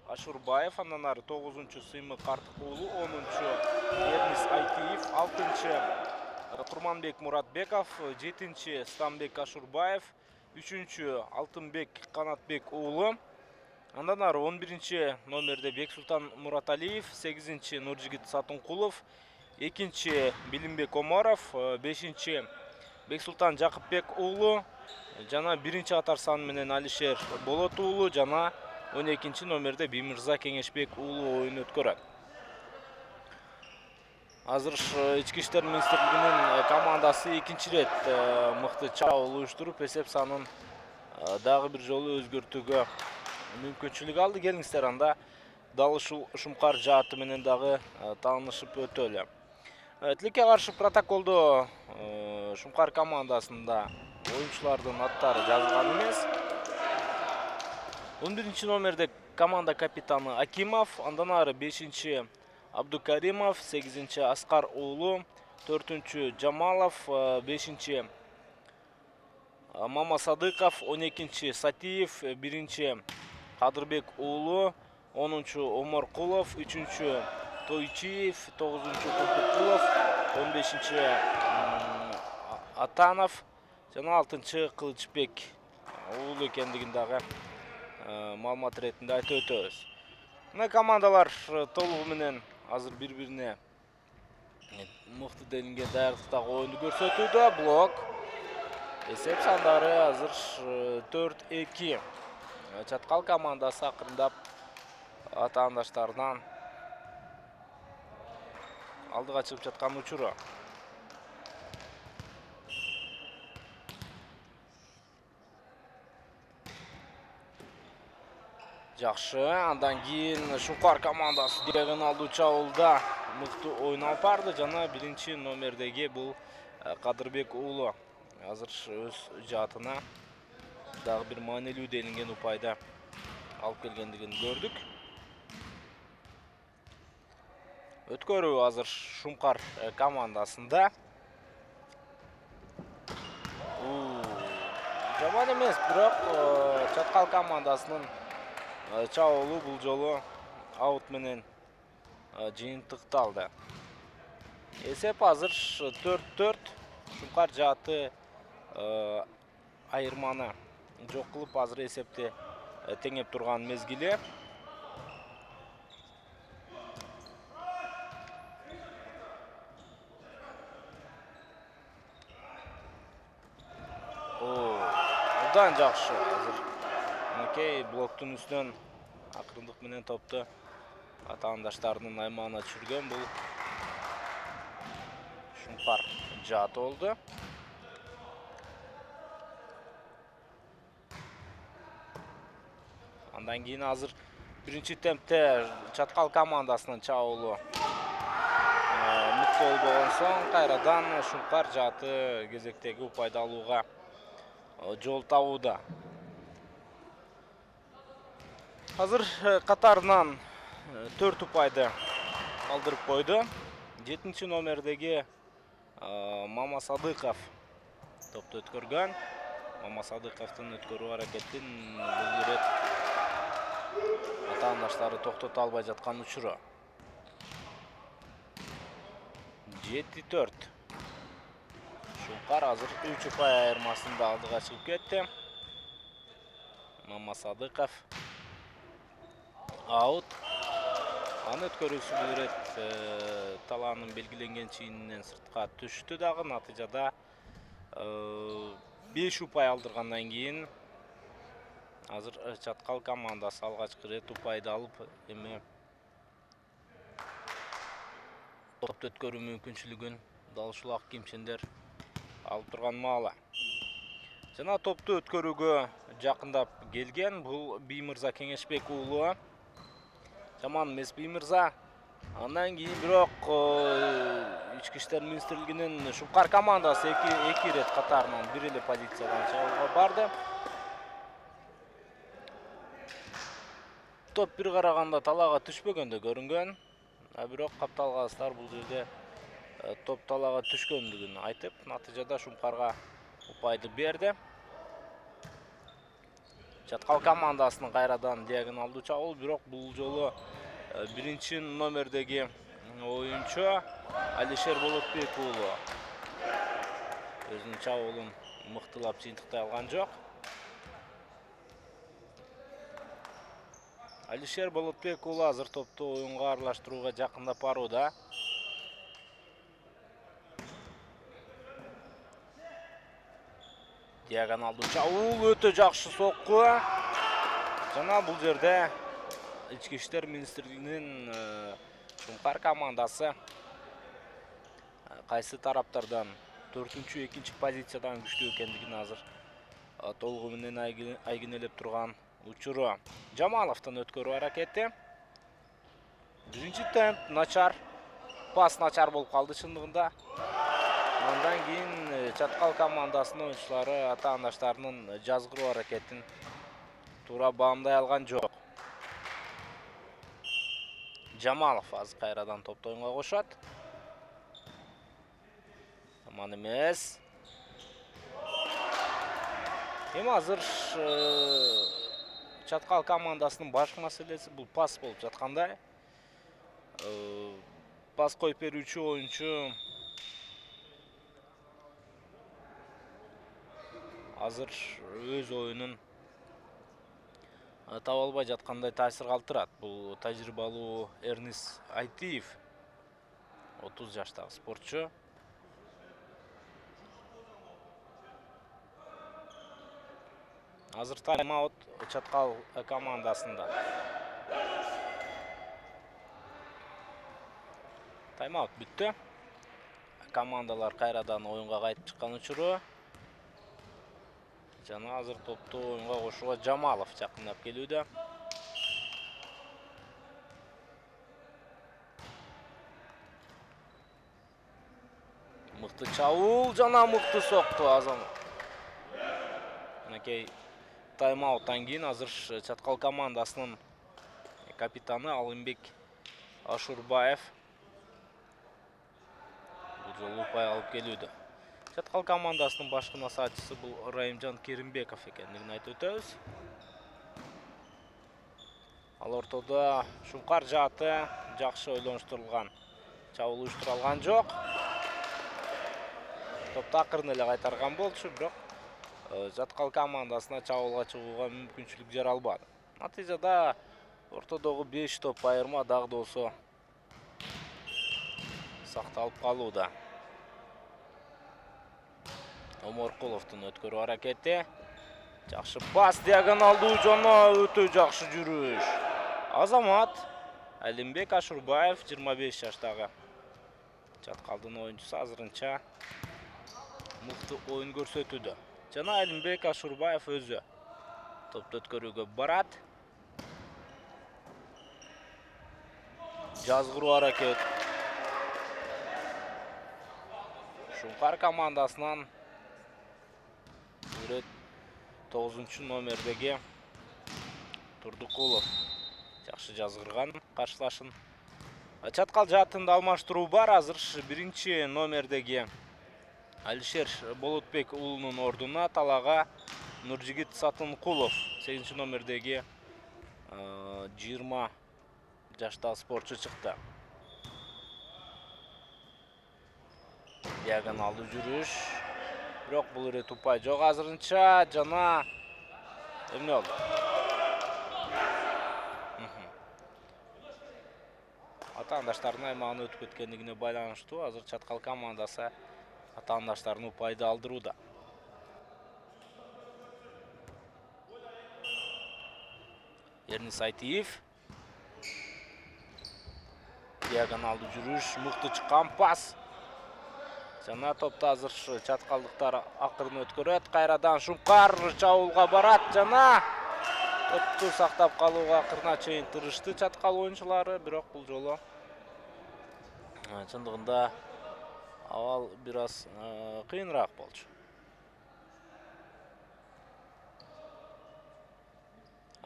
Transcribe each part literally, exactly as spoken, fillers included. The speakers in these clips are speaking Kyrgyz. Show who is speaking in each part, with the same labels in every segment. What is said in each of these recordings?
Speaker 1: Ашурбаев, андан ары тогузунчу Сыймык Артык уулу, онунчу Эрнис Айтиев, алтынчы Курманбек Муратбеков, жетинчи Стамбек Ашурбаев, үчүнчү Алтынбек Канатбек уулу. Андан ары он биринчи номерде Бексултан Мураталиев, сегизинчи Нуржигит Сатынкулов, экинчи Билимбек Омаров, бешинчи Бексултан Жакыпбек уулу, жана биринчи катар сан менен Алишер Болот уулу, жана он экинчи номерде Биймырза Кеңешбек уулу оюн өткөрөт. Азыр ички иштер министрлигинин командасы экинчи рет мыкты чабуул уюштуруп, эсеп санын дагы бир жолу өзгөртүүгө мүмкүнчүлүк алды. Келиңиздер анда дал ушул Шумкар жааты менен дагы таанышып өтөлү. Тилекке каршы протоколдо Шумкар командасында оюнчулардын аттары жазылган эмес. он биринчи номерде команда капитаны Акимов, андан ары бешинчи Абдукаримов, сегизинчи Аскар уулу, төртүнчү Жамалов, бешинчи Мамасадыков, он экинчи Сатиев, биринчи Кадырбек уулу, онунчу Оморкулов, үчүнчү Тойчиев, тогузунчу Курдукулов, он бешинчи Атанов жана алтынчы Кылычбек уулу экендигин дагы маалымат иретинде айтып өтөбүз. Мына командалар толугу менен азыр бири-бирине мыкты делинген даярдыктагы оюнду көрсөтүүдө. Блок. Эсеп сандары азыр төрт эки. Чаткал командасы акырындап атаандаштарынан алдыга чыгып жаткан учуру. Жакшы, андан кийин Шумкар командасы диагоналдуу чабуулда мыкты оюн алып барды, жана биринчи номердеги бул Кадырбек уулу азыр өз жаатына дагы бир маанилүү делинген упайда алып келгендигин көрдүк. Өткөрүү азыр Шумкар командасында. Жаман эмес, бирок чаткал командасынын чабуулу бул жолу аут менен жыйынтыкталды. Эсеп азыр төрт төрт. Шумкар жааты айырманы жок кылып азыр эсепти теңеп турган мезгили. Абдан жакшы азыр Макей блоктун үстүнөн акырындык менен топту атаандаштарынын аймагына түшүргөн. Бул Шумкар жааты болду. Андан кийин азыр биринчи темпте чаткал командасынын чабуулу мыкты болбогон соң кайрадан Шумкар жааты кезектеги упайды алууга жол табууда. Азыр катарынан төрт упайды калтырып койду. жетинчи номердеги Мамасадыков топту өткөргөн. Мамасадыковдун өткөрүү аракетин бул ирет атаандаштары токтото албай жаткан учуру. жети төрт. Шумкар азыр үч упай айырмасында алдыга чыгып кетти. Мамасадыков аут. Аны өткөрүүсү бул ирет талаанын белгиленген чийининен сыртка түштү дагы. Натыйжада беш упай алдыргандан кийин азыр чаткал командасы алгачкы рет упайды алып, эми топту өткөрүү мүмкүнчүлүгүн дал ушул ак кийимчендер алып турган маалы. Жана топту өткөрүүгө жакындап келген бул Биймырза Кеңешбек уулу. Жаман эмес Биймырза. Андан кийин бирок ички иштер министрлигинин Шумкар командасы эки рет катарынан бир эле позициядан чабуулга барды. Топ бир караганда талаага түшпөгөндөй көрүнгөн. А бирок капталгастар бул жерде топ талаага түшкөндүгүн айтып, натыйжада Шумкарга упайды берди. Чаткал командасынын кайрадан диагоналдуу чабуул, бирок бул жолу биринчи номердеги оюнчу Алишер Болотбек уулу өзүнүн чабуулун мыктылап жыйынтыктай алган жок. Алишер Болотбек уулу азыр топту оюнга аралаштырууга жакындап барууда. Диагоналдуу чабуул, өтө жакшы сокку. Жана бул жерде Ички иштер министрлигинин Шумкар командасы кайсы тараптардан төртүнчү, экинчи позициядан күчтүү экендигин азыр толугу менен айгинелеп турган учуру. Жамаловдун өткөрүү аракети. Биринчи темп начар, пас начар болуп калды чындыгында. Андан кийин Чаткал командасынын оюнчулары ата-андаштарынын жазгыруу аракетин туура баамдай алган жок. Жамалов азыр кайрадан топту оюнга кошот. Жаман эмес. Эми азыр Чаткал командасынын баш маселеси бул пас болуп жаткандай. Пас коюп берүүчү оюнчу азыр өз оюнун таба албай жаткандай таасир калтырат. Бул тажрыйбалуу Эрнис Айтиев, отуз жаштагы спортчу. Азыр тайм-аут Чаткал командасында. Тайм-аут бүттү. Командалар кайрадан оюнга кайтып чыккан учуру. Жана азыр топту оюнга кошууга Жамалов жакындап келүүдө. Мыкты чабуул жана мыкты сокку азам. Мынакей тайм-ауттан кийин азыр Чаткал командасынын капитаны Алымбек Ашурбаев бул жолу упай алып келүүдө. Чаткал командасынын башкы насаатчысы бул Райымжан Керимбеков экендигин айтып өтөбүз. Ал ортодо Шумкар жааты жакшы ойлонуштурулган. Чабуул уюштуралган жок. Топту акырын эле кайтарган болчу, бирок Чаткал командасына чабуулга чыгууга мүмкүнчүлүк жаралбады. Натыйжада ортодогу беш топ айырма дагы да болсо сакталып калууда. Оморкуловдун өткөрүү аракети. Жакшы пас, диагоналдуу жана өтө жакшы жүрүш. Азамат Алимбек Ашурбаев, жыйырма беш жаштагы Чаткалдын оюнчусу, азырынча мыкты оюн көрсөтүүдө. Жана Алимбек Ашурбаев өзү топту өткөрүүгө барат. Жазгыруу аракет. Шумкар командасынан тогузунчу номердеги Турдукулов жакшы жазгырган каршылашын. Чаткал жаатында алмаштыруу бар. Азыр биринчи номердеги Алишер Болотбек уулунун ордуна талага Нуржигит Сатынкулов, сегизинчи номердеги жыйырма жаштагы спортчу чыкты. Диагоналдуу жүрүш. Бирок бул ирет упай жок азырынча, жана эмне болду? Ата-андаштардын аймагына өтүп кеткендигине байланыштуу азыр Чаткал командасы ата-андаштарын упайды алдырууда. Эрнис Айтиев. Диагоналдуу жүрүш, мыкты чыккан пас. Жана топту азыр чаткалдыктар акырын өткөрөт. Кайрадан Шумкар чабуулга барат жана топту сактап калууга акырына чейин тырышты Чаткал оюнчулары, бирок бул жолу чындыгында абал бир аз кыйыныраак болчу.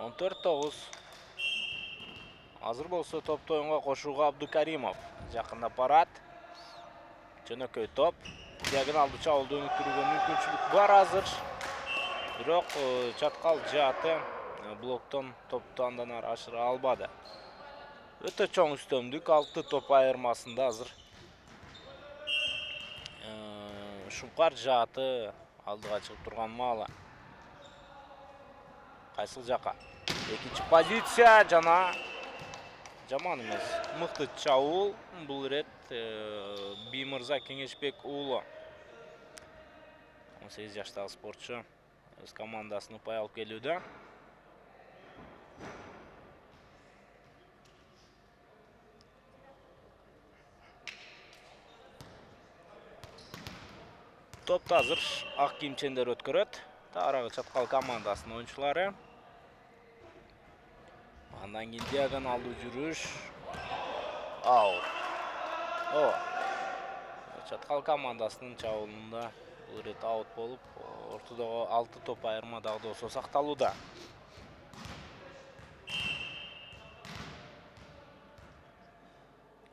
Speaker 1: он төрт тогуз. Азыр болсо топту оюнга кошууга Абдукаримов жакындап барат. Жөнөкөй топ. Диагоналдуу чабуулду өнүктүрүүгө мүмкүнчүлүк бар азыр. Бирок Чаткал жааты блоктон топту андан ары ашыра албады. Өтө чоң үстөмдүк, алты топ айырмасында азыр Шумкар жааты алдыга чыгып турган маалы. Кайсыл жака? Экинчи позиция жана жаман эмес. Мыкты чабуул. Бул ирет Биймырза Кеңешбек уулу. он сегиз жаштагы спортчу өз командасын упай алып келүүдө. Топты азыр ак кийимчендер өткөрөт. Таарагы чаткал командасынын оюнчулары. Андан кийин диагоналдуу жүрүш. Ау. О. Чаткал командасынын чабуулунда бул ирет аут болуп, ортодогу алты топ айырма дагы болсо сакталууда.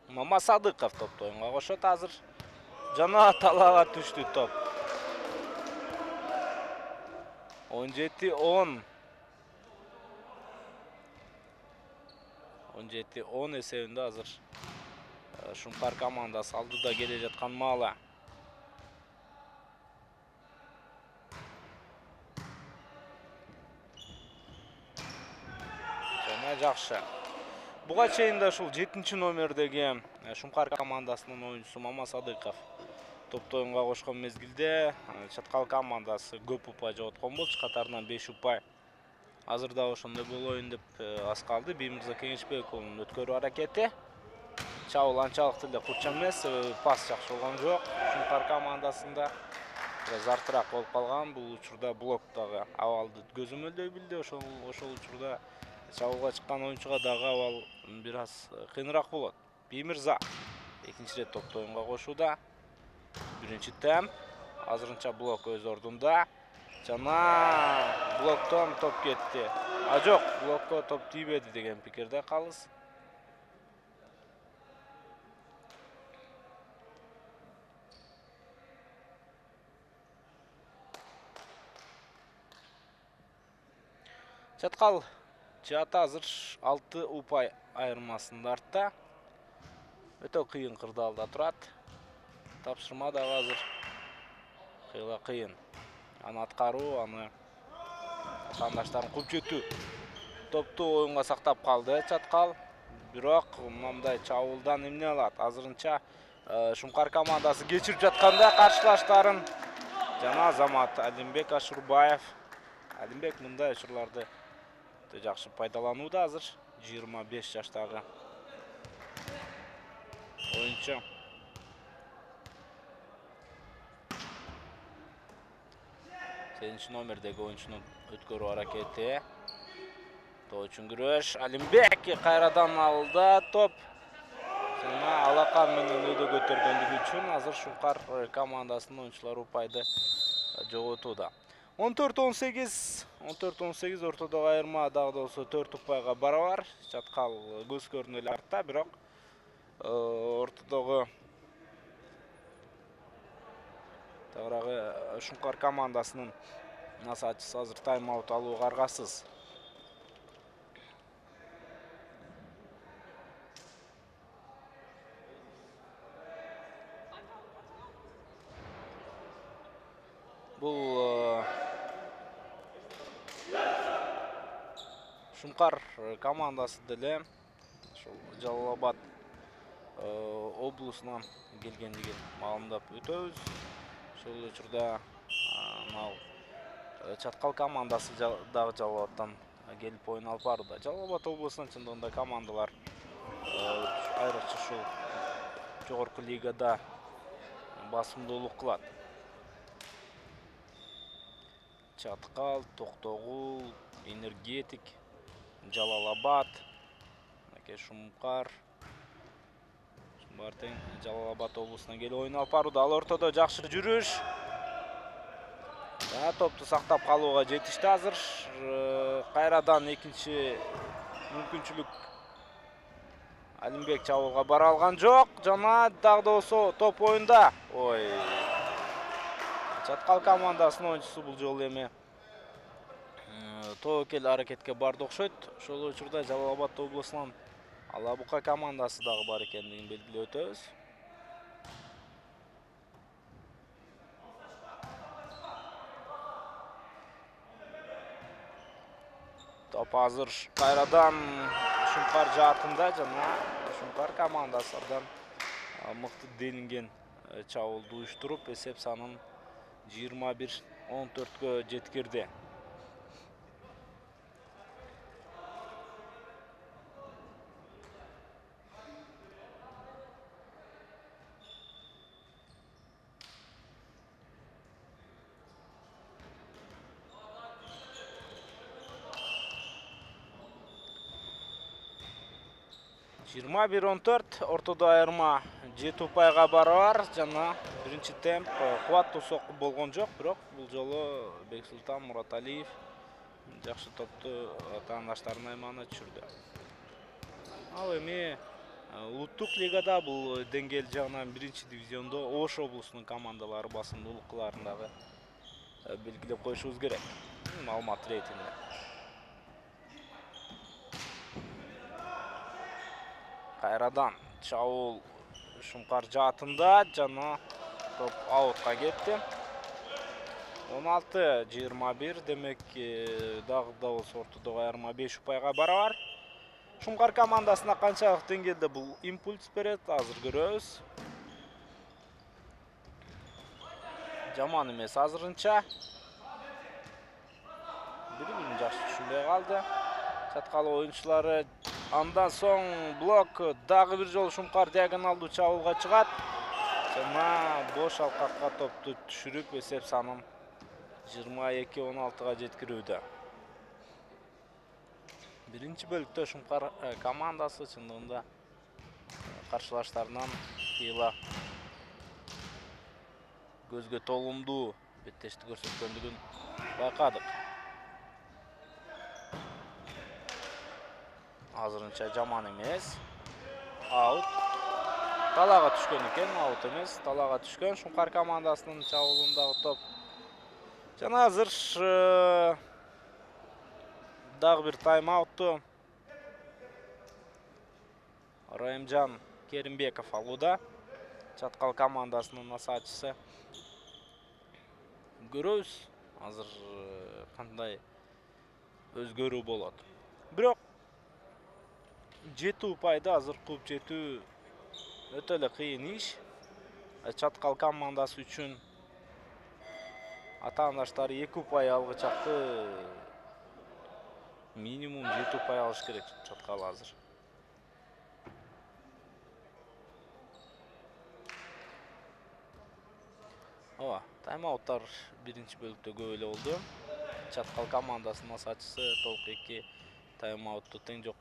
Speaker 1: Мамасадыков топту оюнга кошот азыр. Жана талаага түштү топ. он жети он. он жети он эсебинде азыр Шумкар командасы алдыда келе жаткан маалы. Жана жакшы. Буга чейин да ушул жетинчи номердеги Шумкар командасынын оюнчусу Мамасадыков топту оюнга кошкон мезгилде чаткал командасы көп упай жоготкон болчу, катарынан беш упай. Азыр да ошондой болоюн деп аз калды. Биймырза Кеңешбек уулунун өткөрүү аракети. Чабуул анчалык деле курча эмес, пас жакшы болгон жок. Шумкар командасында бир аз артыраак болуп калган. Бул учурда блоктогу абалды көзөмөлдөй билди. Ошол ошол учурда чабуулга чыккан оюнчуга дагы абал бир аз кыйыныраак болот. Биймырза экинчи рет топту оюнга кошууда. Биринчи темп. Азырынча блок өз ордунда. Жана блоктон топ кетти. А жок, блокко топ тийбеди деген пикирде калыс. Чаткал жааты азыр алты упай айырмасында артта. Өтө кыйын кырдаалда турат. Тапшырма дагы азыр кыйла кыйын. Аны аткаруу, аны атаандаштарын кууп жетүү. Топту оюнга сактап калды Чаткал. Бирок мындай чабуулдан эмне алат? Азырынча Шумкар командасы кечирип жатканда каршылаштарын жана Азамат Алимбек Ашурбаев. Алимбек мындай учурларды өтө жакшы пайдаланууда азыр. жыйырма беш жаштагы оюнчу. сегизинчи номердеги оюнчунун өткөрүү аракети. Тоо үчүн күрөш. Алимбек кайрадан алды топ. Жана алакан менен өйдө көтөргөндүгү үчүн азыр Шумкар командасынын оюнчулары упайды жоготууда. он төрт он сегиз, он төрт он сегиз ортодогу айырма дагы да болсо төрт упайга барабар. Чаткал көз көрүнө эле артта, бирок ортодогу тагыраагы Шумкар командасынын насаатчысы азыр тайм-аут алууга аргасыз. Бул Шумкар командасы деле ошол Жалал Абад облусунан келгендигин маалымдап өтөбүз. Ошол учурда мал Чаткал командасы дагы Жалал Абадтан келип оюн алып барууда. Жалал Абад облусунун чындыгында командалар айрыкча ушул жогорку лигада басымдуулук кылат. Чаткал, Токтогул, Энергетик, Жалал Абад, Шумкар. Шумбар тең Жалал Абад облусунан келип оюн алып барууда. Ал ортодо жакшы жүрүш. Жана топту сактап калууга жетишти азыр. Кайрадан экинчи мүмкүнчүлүк. Алимбек чабуулга бара алган жок. Жана дагы да болсо топ оюнда. Ой. Чаткал командасынын оюнчусу бул жолу эми тобокел аракетке барды окшойт. Ошол учурда Жалал Абад облусунун Алабука командасы дагы бар экендигин белгилеп өтөбүз. Топ азыр кайрадан Шумкар жаатында жана Шумкар командасы абдан мыкты делинген чабуулду уюштуруп, эсеп санын жыйырма бир он төрткө жеткирди. жыйырма бир он төрт, ортодо айырма жети упайга барабар жана биринчи темп кубаттуу сокку болгон жок, бирок бул жолу Бексултан Мураталиев жакшы топту атаандаштарынын аймагына түшүрдү. Ал эми улуттук лигада бул деңгээл жагынан биринчи дивизиондо Ош облусунун командалары басымдуулуктарын дагы белгилеп коюшубуз керек. Маалымат рейтинде. Кайрадан чабуул Шумкар жаатында жана топ аутка кетти. он алты жыйырма бир, демек дагы да болсо ортодогу айырма беш упайга барабар. Шумкар командасына канчалык деңгээлде бул импульс берет, азыр көрөбүз. Жаман эмес азырынча. Бири-бирин жакшы түшүнбөй калды. Чаткалы оюнчулары. Андан соң блок дагы бир жолу Шумкар диагоналдуу чабуулга чыгат. Жана бош алкакка топту түшүрүп, эсеп санын жыйырма эки он алтыга жеткирүүдө. Биринчи бөлүктө Шумкар командасы чындыгында каршылаштарынан кыйла көзгө толумдуу беттешти көрсөткөндүгүн байкадык. Азырынча жаман эмес. Аут. Талага түшкөн экен, аут эмес, талага түшкөн Шумкар командасынын чабуулундагы топ. Жана азыр дагы бир тайм-аутту Райымжан Керимбеков алууда. Чаткал командасынын насаатчысы. Көрөбүз азыр кандай өзгөрүү болот. Бирок жети упайды азыр кууп жетүү өтө эле кыйын иш. Чаткал командасы үчүн атаандаштары эки упай алгычакты минимум жети упай алыш керек Чаткал азыр. Ооба, тайм-ауттар биринчи бөлүктө көп эле болду. Чаткал командасынын насаатчысы толук эки тайм-аутту тең жок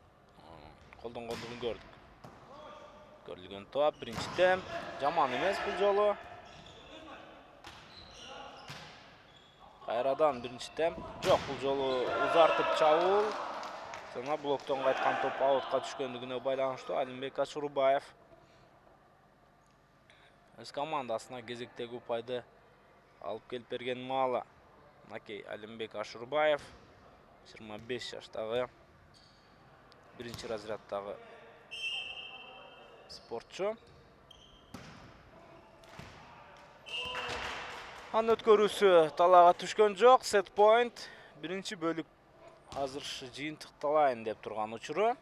Speaker 1: колдонгондугун көрдүк. Көрүлгөн топ, биринчи темп. Жаман эмес бул жолу. Кайрадан биринчи темп. Жок, бул жолу узартып чабуул. Жана блоктон кайткан топ аутка түшкөндүгүнө байланыштуу Алимбек Ашурбаев өз командасына кезектеги упайды алып келип берген маалы. Накей Алимбек Ашурбаев жыйырма беш жаштагы биринчи разряддагы спортчу. Анын өткөрүүсү талаага түшкөн жок. Сет point. Биринчи бөлүк азыр жыйынтыкталайын деп турган учуру.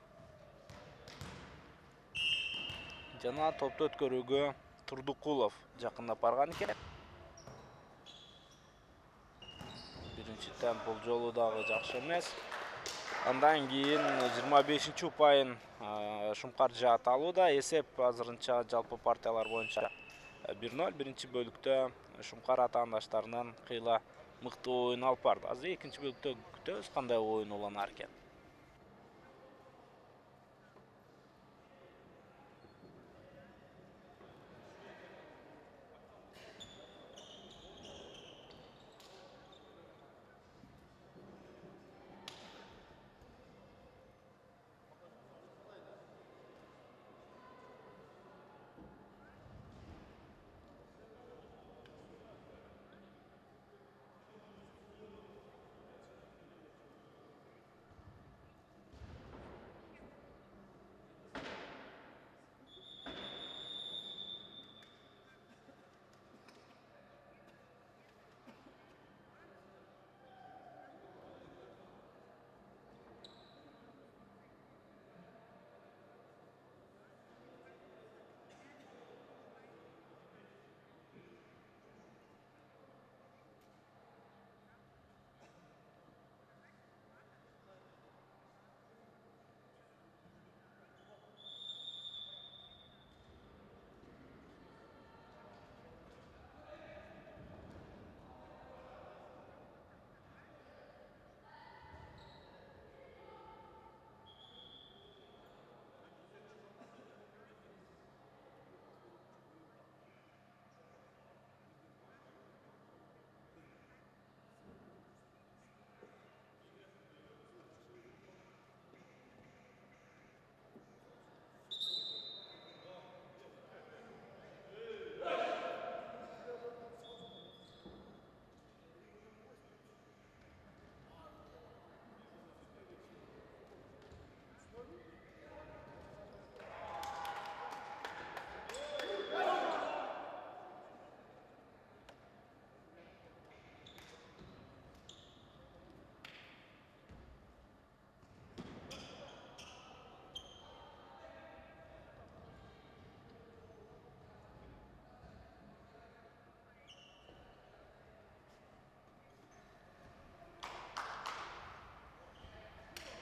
Speaker 1: Жана топту өткөрүүгө Турдукулов жакындап барган экен. Биринчи темп бул жолу дагы жакшы эмес. Андан кийин жыйырма бешинчи упайын Шумкар жаат алууда. Эсеп азырынча жалпы партиялар боюнча бир ноль. Биринчи бөлүктө Шумкар атаандаштарынан кыйла мыкты оюн алып барды. Азыр экинчи бөлүктө күтөбүз кандай оюн уланар экен.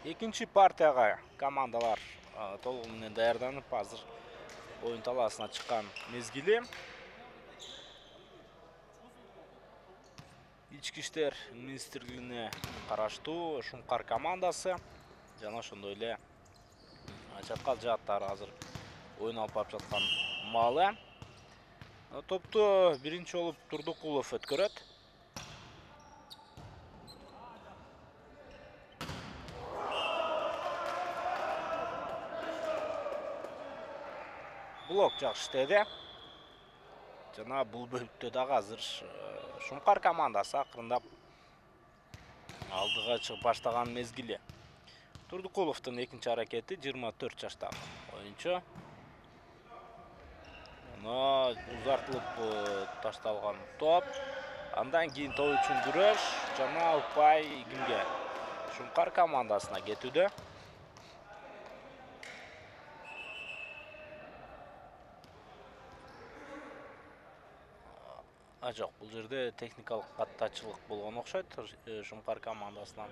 Speaker 1: Экинчи партияга командалар толугу менен даярданып, азыр оюн талаасына чыккан мезгили. Ички иштер министрлигине караштуу Шумкар командасы жана ошондой эле чаткал жааттары азыр оюн алып барып жаткан маалы. Топту биринчи болуп Турдукулов өткөрөт. Блок жакшы иштеди. Жана бул бөлүктө дагы азыр Шумкар командасы акырындап алдыга чыгып баштаган мезгили. Турдукуловдун экинчи аракети жыйырма төрт жаштагы оюнчу. Мына узартылып ташталган топ. Андан кийин топ үчүн күрөш жана упай кимге? Шумкар командасына кетүүдө. А жок, бул жерде техникалык каттачылык болгон окшойт Шумкар командасынан.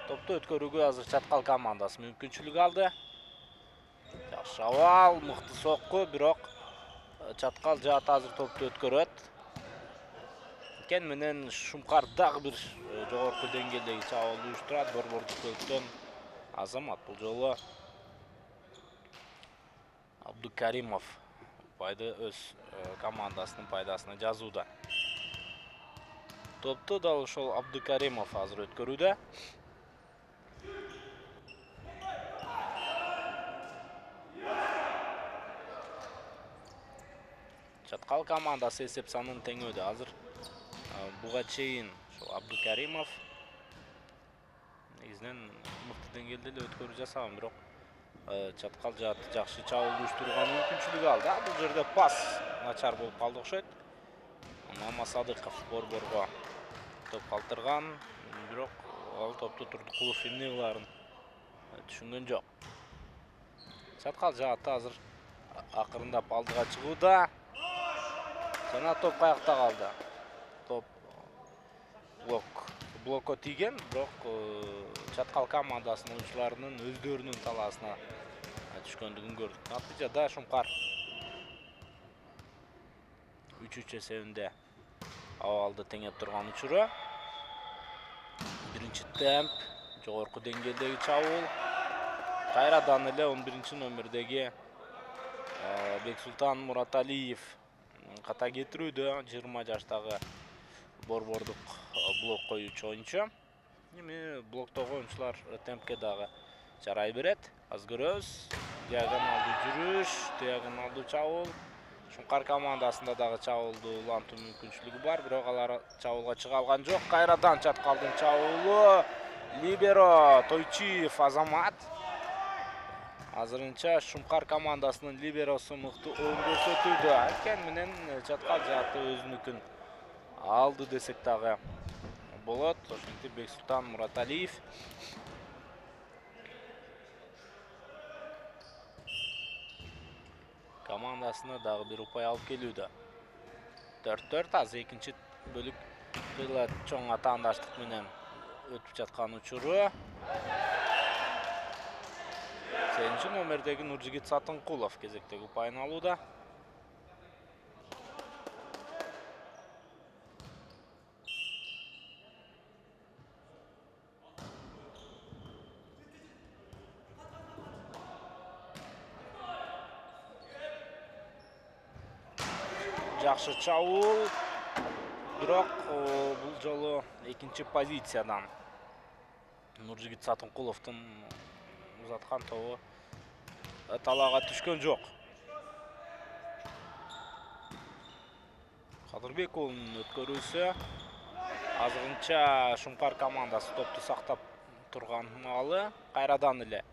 Speaker 1: Топту өткөрүүгө азыр чаткал командасы мүмкүнчүлүк алды. Жакшы абал, мыкты сокку, бирок чаткал жаат азыр топту өткөрөт. Кен менен Шумкар дагы бир жогорку деңгээлдеги чабуулду уюштурат. Борбордук бөлүктөн Азамат бул жолу Абдукаримов упайды өз командасынын пайдасына жазууда. Топту дал ошол Абдукаримов азыр өткөрүүдө. Чаткал командасы эсеп санын теңөөдө. Азыр буга чейин ошол Абдукаримов негизинен мыкты деңгээлде эле өткөрүү жасаган, бирок чаткал жааты жакшы чабуулду уюштурууга мүмкүнчүлүк алды. Бул жерде пас начар болуп калды окшойт. Мамасадыков борборго топ калтырган, бирок ал топту Турдукулов эмне кылаарын түшүнгөн жок. Чаткал жааты азыр акырындап алдыга чыгууда. Жана топ каякта калды. Топ блок блокко тийген, бирок чаткал командасынын оюнчуларынын өздөрүнүн талаасына түшкөндүгүн көрдүк. Натыйжада Шумкар үч үч эсебинде абалды теңеп турган учуру. Биринчи темп, жогорку деңгээлдеги чабуул. Кайрадан эле он биринчи номердеги Бексултан Мураталиев ката кетирүүдө. жыйырма жаштагы борбордук блок коюучу оюнчу. Эми блоктогу оюнчулар темпке дагы жарай берет. Аз көрөбүз. Диагоналдуу жүрүш, диагоналдуу чабуул. Шумкар командасында дагы чабуулду улантуу мүмкүнчүлүгү бар, бирок алар чабуулга чыга алган жок. Кайрадан чаткалдын чабуулу. Либеро Тойчиев Азамат. Азырынча Шумкар командасынын либеросу мыкты оюн көрсөтүүдө. Анткени менен чаткал жааты өзүнүкүн алды десек дагы болот. Ошентип Бексултан Мураталиев командасына дагы бир упай алып келүүдө. төрт төрт азыр экинчи бөлүк кыйла чоң атаандаштык менен өтүп жаткан учуру. сегизинчи номердеги Нуржигит Сатынкулов кезектеги упайын алууда. Жакшы чабуул, бирок бул жолу экинчи позициядан Нуржигит Сатынкуловдун узаткан тобу талаага түшкөн жок. Кадырбек уулунун өткөрүүсү. Азырынча Шумкар командасы топту сактап турган маалы. Кайрадан эле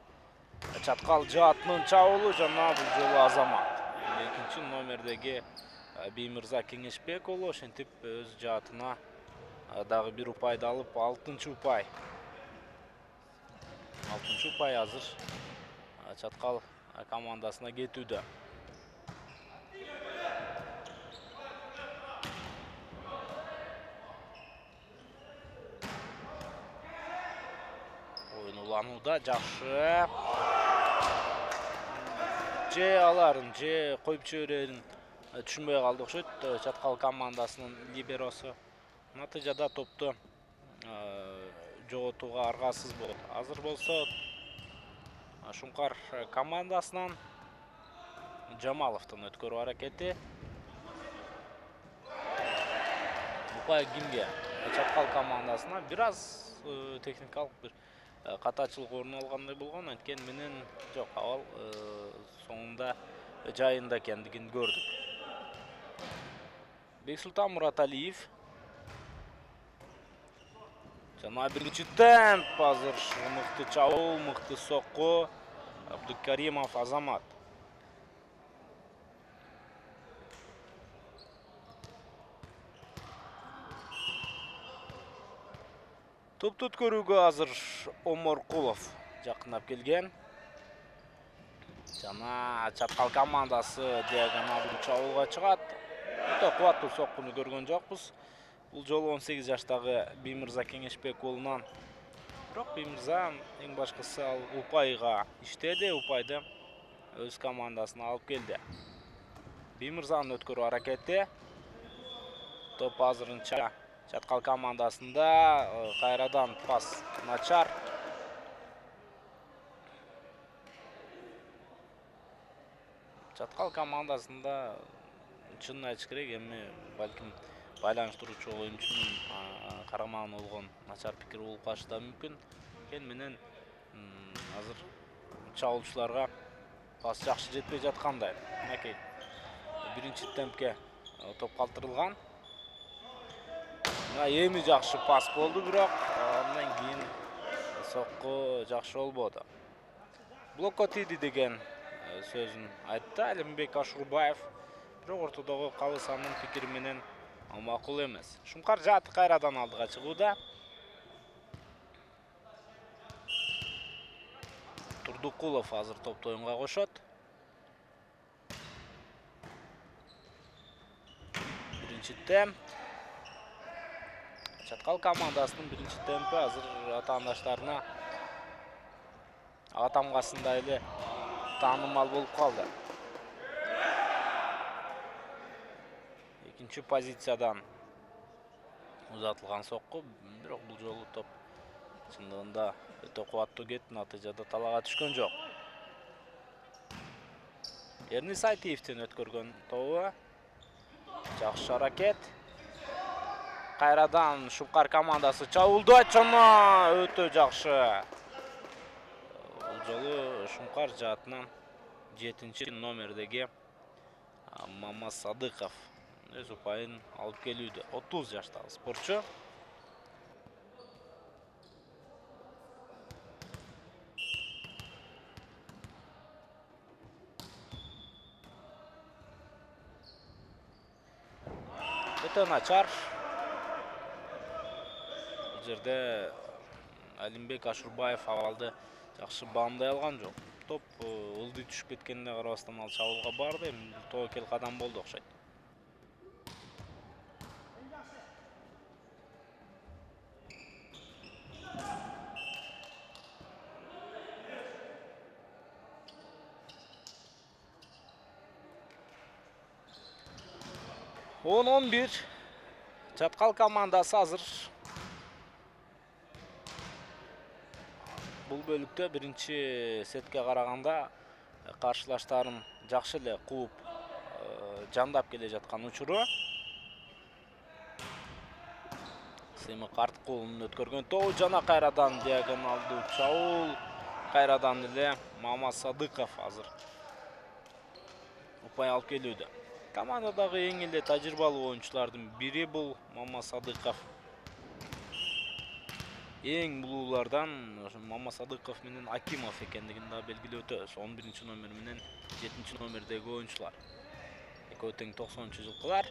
Speaker 1: чаткал жаатынын чабуулу жана бул жолу Азамат. Экинчи номердеги Беймирза Кеңешбек уулу ошентип өз жаатына дагы бир упайды алып, алтынчы упай. алтынчы упай азыр чаткал командасына кетүүдө. Оюн уланууда. Жакшы. Же аларын, же коюп жиберерин түшүнбөй калды окшойт чаткал командасынын либеросу. Натыйжада топту жоготууга аргасыз болот. Азыр болсо Шуңкар командасынан Жамаловдун өткөрүү аракети. Упай кимге? Чаткал командасына бир аз техникалык бир катачылык орун алгандай болгон, анткени менен жок, абал соңунда жайында экендигин көрдүк. Бексултан Мураталиев. Жана биринчи темп, азыр мыкты чабуул, мыкты сокку. Абдукаримов Азамат. Топту өткөрүүгө азыр Оморкулов жакындап келген. Жана чаткал командасы диагоналдуу чабуулга чыгат. Өтө кубаттуу соккуну көргөн жокпуз. Бул жолу он сегиз жаштагы Биймырза Кеңешбек уулунан. Бирок Биймырза эң башкысы ал Упайга иштеди, Упайды өз командасына алып келди. Биймырзанын өткөрүү аракети. Топ азырынча чаткал командасында, кайрадан пас начар. Чаткал командасында чынын айтыш керек, эми балким байланыштыруучу оюнчунун карамагына болгон начар пикир болуп калышы да мүмкүн. Кен менен азыр чабуулчуларга пас жакшы жетпей жаткандай. Мынакей биринчи темпке топ калтырылган. Эми жакшы пас болду, бирок андан кийин сокку жакшы болбоду. Блокко тийди деген сөзүн айтты Алимбек Ашурбаев. Бирок ортодогу Калысанын пикири менен макул эмес. Шуңкар жааты кайрадан алдыга чыгууда. Турдукулов азыр топту оюнга кошот. Биринчи темп. Чаткал командасынын биринчи темпи азыр атаандаштарына ага тамгасында эле таанымал болуп калды. Экинчи позициядан узатылган сокку, бирок бул жолу топ чындыгында өтө кубаттуу кетти, натыйжада талаага түшкөн жок. Эрнис Айтиевдин өткөргөн тобу. Жакшы аракет. Кайрадан Шуңкар командасы чабуулдойт, жана өтө жакшы. Бул жолу Шуңкар жаатынан жетинчи номердеги Мамас Садыков өз упайын алып келүүдө. отуз жаштагы спортчу. Өтө начар. Бул жерде Алимбек Ашурбаев абалды жакшы баамдай алган жок. Топ ылдый түшүп кеткенине карабастан ал чабуулга барды, эми тобокел кадам болду окшойт. он он бир. Чаткал командасы азыр бул бөлүктө биринчи сетке караганда каршылаштарын жакшы эле кууп жандап келе жаткан учуру. Семик Арткулунун өткөргөн тобу, жана кайрадан диагоналдуу чабуул. Кайрадан эле Мамас Садыков азыр упай алып келүүдө. Командадагы эң эле тажрыйбалуу оюнчулардын бири бул Мамас Садыков. Эң булуулардан Мамас Садыков менен Акимов экендигин да белгилеп өтөбүз. он биринчи номер менен жетинчи номердеги оюнчулар. Экөө тең токсонунчу жылкылар.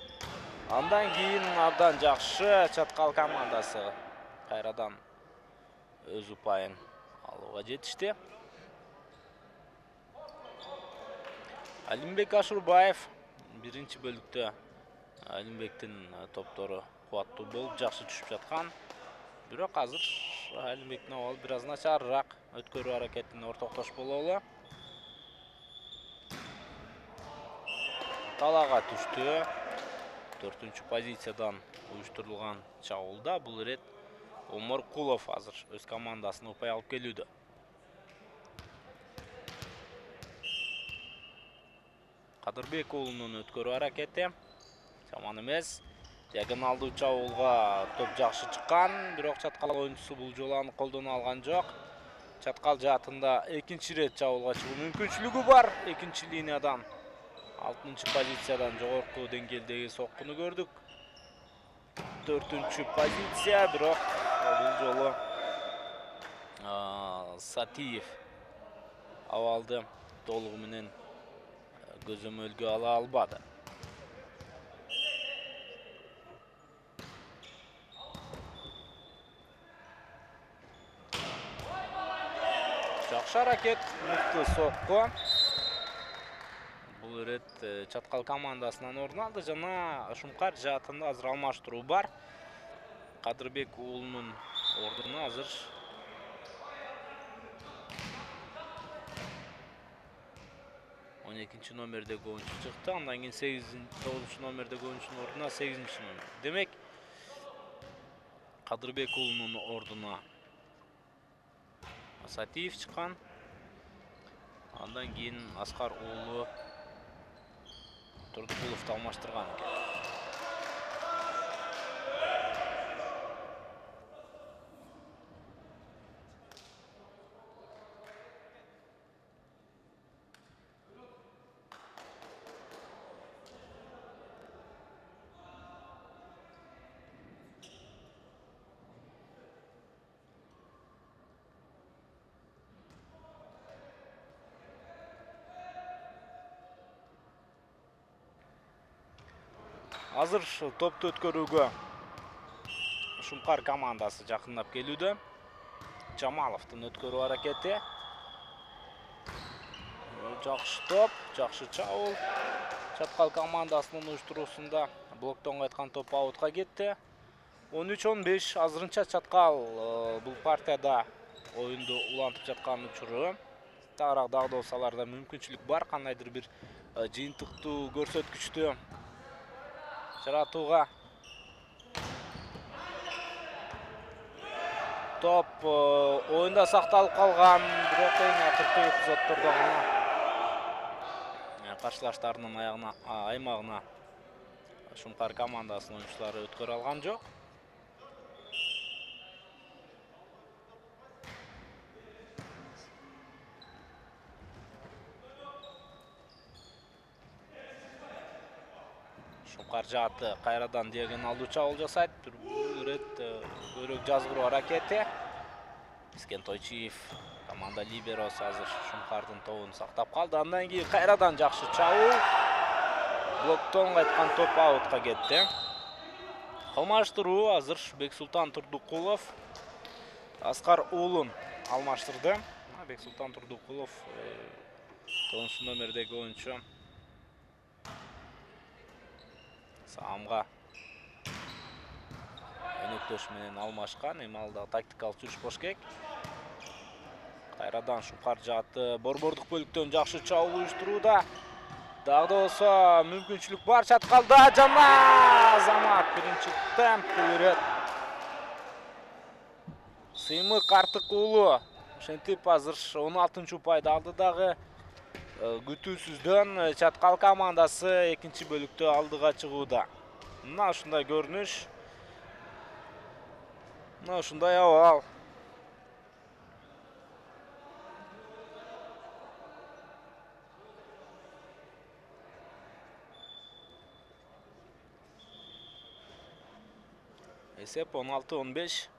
Speaker 1: Андан кийин абдан жакшы чаткал командасы кайрадан өз упайын алууга жетишти. Алимбек Ашурбаев биринчи бөлүктө Алимбектин топтору кубаттуу болуп жакшы түшүп жаткан. Бирок азыр Алимбек Навал бир аз начарыраак өткөрүү аракетине ортоктош бололу. Талаага түштү. төртүнчү позициядан уюштурулган чабуулда бул ирет Омаркулов азыр өз командасына упай алып келүүдө. Кадырбек уулунун өткөрүү аракети жаман эмес. Диагоналдуу чабуулга топ жакшы чыккан, бирок чаткал оюнчусу бул жолу аны колдоно алган жок. Чаткал жаатында экинчи ирет чабуулга чыгуу мүмкүнчүлүгү бар. Экинчи линиядан алтынчы позициядан жогорку деңгээлдеги соккуну көрдүк. төртүнчү позиция, бирок бул жолу Сатиев абалды толугу менен көзөмөлгө ала албады. Жакшы аракет, мыкты сокку. Бул ирет чаткал командасынан орун алды жана Шумкар жаатында азыр алмаштыруу бар. Кадырбек уулунун ордуна азыр он экинчи номердеги оюнчу чыкты. Андан кийин сегизинчи тогузунчу номердеги оюнчунун ордуна сегизинчи номер. Демек, Кадырбек уулунун ордуна Сатиев чыккан. Андан кийин Аскар уулу Турдукуловду алмаштырган экен. Азыр топту өткөрүүгө Шумкар командасы жакындап келүүдө. Жамаловдун өткөрүү аракети. Жакшы топ, жакшы чабуул. Чаткал командасынын уюштуруусунда блоктон кайткан топ аутка кетти. он үч он беш азырынча Чаткал бул партияда оюнду улантып жаткан учуру. Тагыраак дагды аларда мүмкүнчүлүк бар, кандайдыр бир жыйынтыктуу көрсөткүчтү жаратууга. Топ оюнда сакталып калган, бирок эң акыркы эпизоддордо гана каршылаштарынын аягына, аймагына Шумкар командасынын оюнчулары өткөрө алган жок. Шумкар жааты кайрадан диагоналдуу чабуул жасайт. Бул ирет көйрөк жазгыруу аракети. Искен Тойчиев команда либеросы азыр Шумкардын тобун сактап калды. Андан кийин кайрадан жакшы чабуул. Блоктон кайткан топ аутка кетти. Алмаштыруу азыр Бексултан Турдукулов Аскар уулун алмаштырды. Бексултан Турдукулов тогузунчу номердеги оюнчу Саамга өнөктөш менен алмашкан. Эми ал да тактикалык жүрүш болуш керек. Кайрадан Шумкар жааты борбордук бөлүктөн жакшы чабуул уюштурууда. Дагы да болсо мүмкүнчүлүк бар Чаткалда. Жана Азамат биринчи темп бул ирет. Сыймык Артык уулу ошентип азыр он алтынчы упайды алды дагы. Күтүүсүздөн Чаткал командасы экинчи бөлүктө алдыга чыгууда. Мына ушундай көрүнүш. Мына ушундай абал. Эсеп он алты он беш.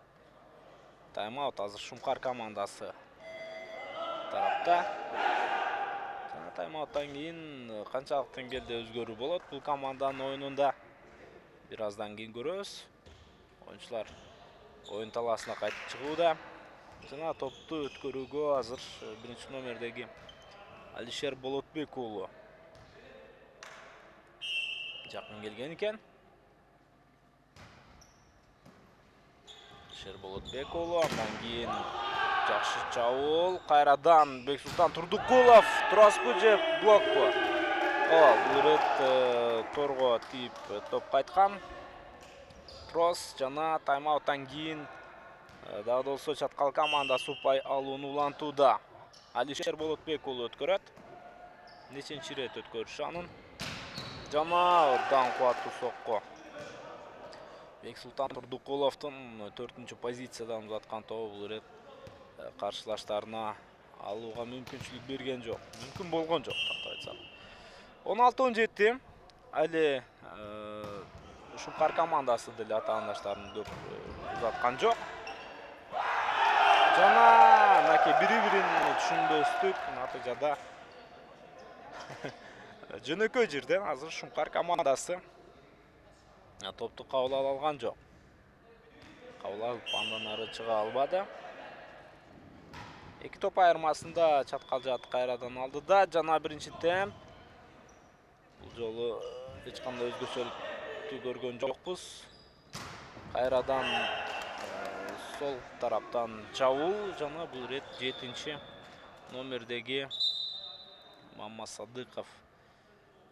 Speaker 1: Тайм-аут азыр Шумкар командасы тарапта. Тайм-ауттан кийин канчалык деңгээлде өзгөрүү болот бул команданын оюнунда бир аздан кийин көрөбүз. Оюнчулар оюн талаасына кайтып чыгууда. Жана топту өткөрүүгө азыр биринчи номердеги Алишер Болотбек уулу жакын келген экен. Алишер Болотбек уулу, андан кийин жакшы чабуул. Кайрадан Бексултан Турдукулов. Тураспы же блокпу? Ооба, бул ирет торго тийип топ кайткан. Трос жана тайм-ауттан кийин дагы болсо чаткал командасы упай алууну улантууда. Алишер Болотбек уулу өткөрөт. Нечинчи ирет өткөрүшү анын. Жана дан кубаттуу сокко. Бексултан Турдукуловдун төртүнчү позициядан узаткан тобу бул ирет каршылаштарына алууга мүмкүнчүлүк берген жок. Мүмкүн болгон жок, кантип айтсак. он алты он жети. Али Шумкар командасы деле атаандаштарын көп узаткан жок. Жана мынакей бири-бирин түшүнбөстүк натыйжада жөнөкөй жерден азыр Шумкар командасы топту кабыл ала алган жок. Кабыл алып андан ары чыга албады. Эки топ айырмасында чаткал жааты кайрадан алдыда. Жана биринчи темп. Бул жолу эч кандай өзгөчөлүктү көргөн жокпуз. Кайрадан сол тараптан чабуул жана бул рет жетинчи номердеги Маммат Садыков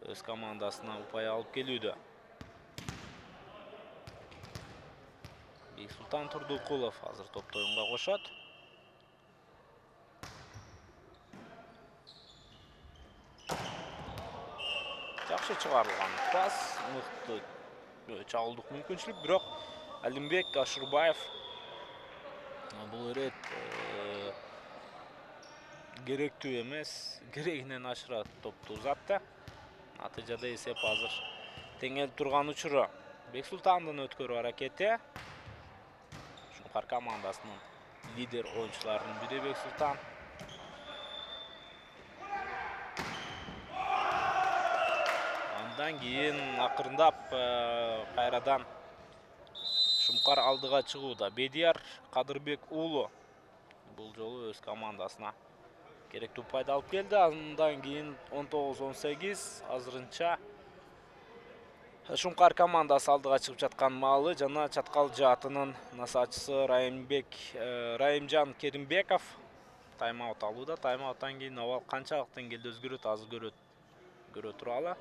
Speaker 1: өз командасына упай алып келүүдө. Бексултан Турдукулов азыр топто оюнга кошот. Жакшы чыгарылган пас, мыкты чабуулдук мүмкүнчүлүк, бирок Алимбек Ашурбаев бул ирет керектүү эмес, керегинен ашыра топту узатты. Натыйжада эсеп азыр теңелип турган учуру. Бексултандын өткөрүү аракети. Шумкар командасынын лидер оюнчуларынын бири Бексултан. Андан кийин акырындап кайрадан Шумкар алдыга чыгууда. Бедияр Кадырбек уулу бул жолу өз командасына керектүү упайды алып келди. Андан кийин он тогуз он сегиз азырынча Шумкар командасы алдыга чыгып жаткан маалы жана чаткал жаатынын насаачысы Райымбек Райымжан Керимбеков тайм-аут алууда. Тайм-ауттан кийин абал канчалык деңгээлде өзгөрөт, азыр көрөт көрө туралы.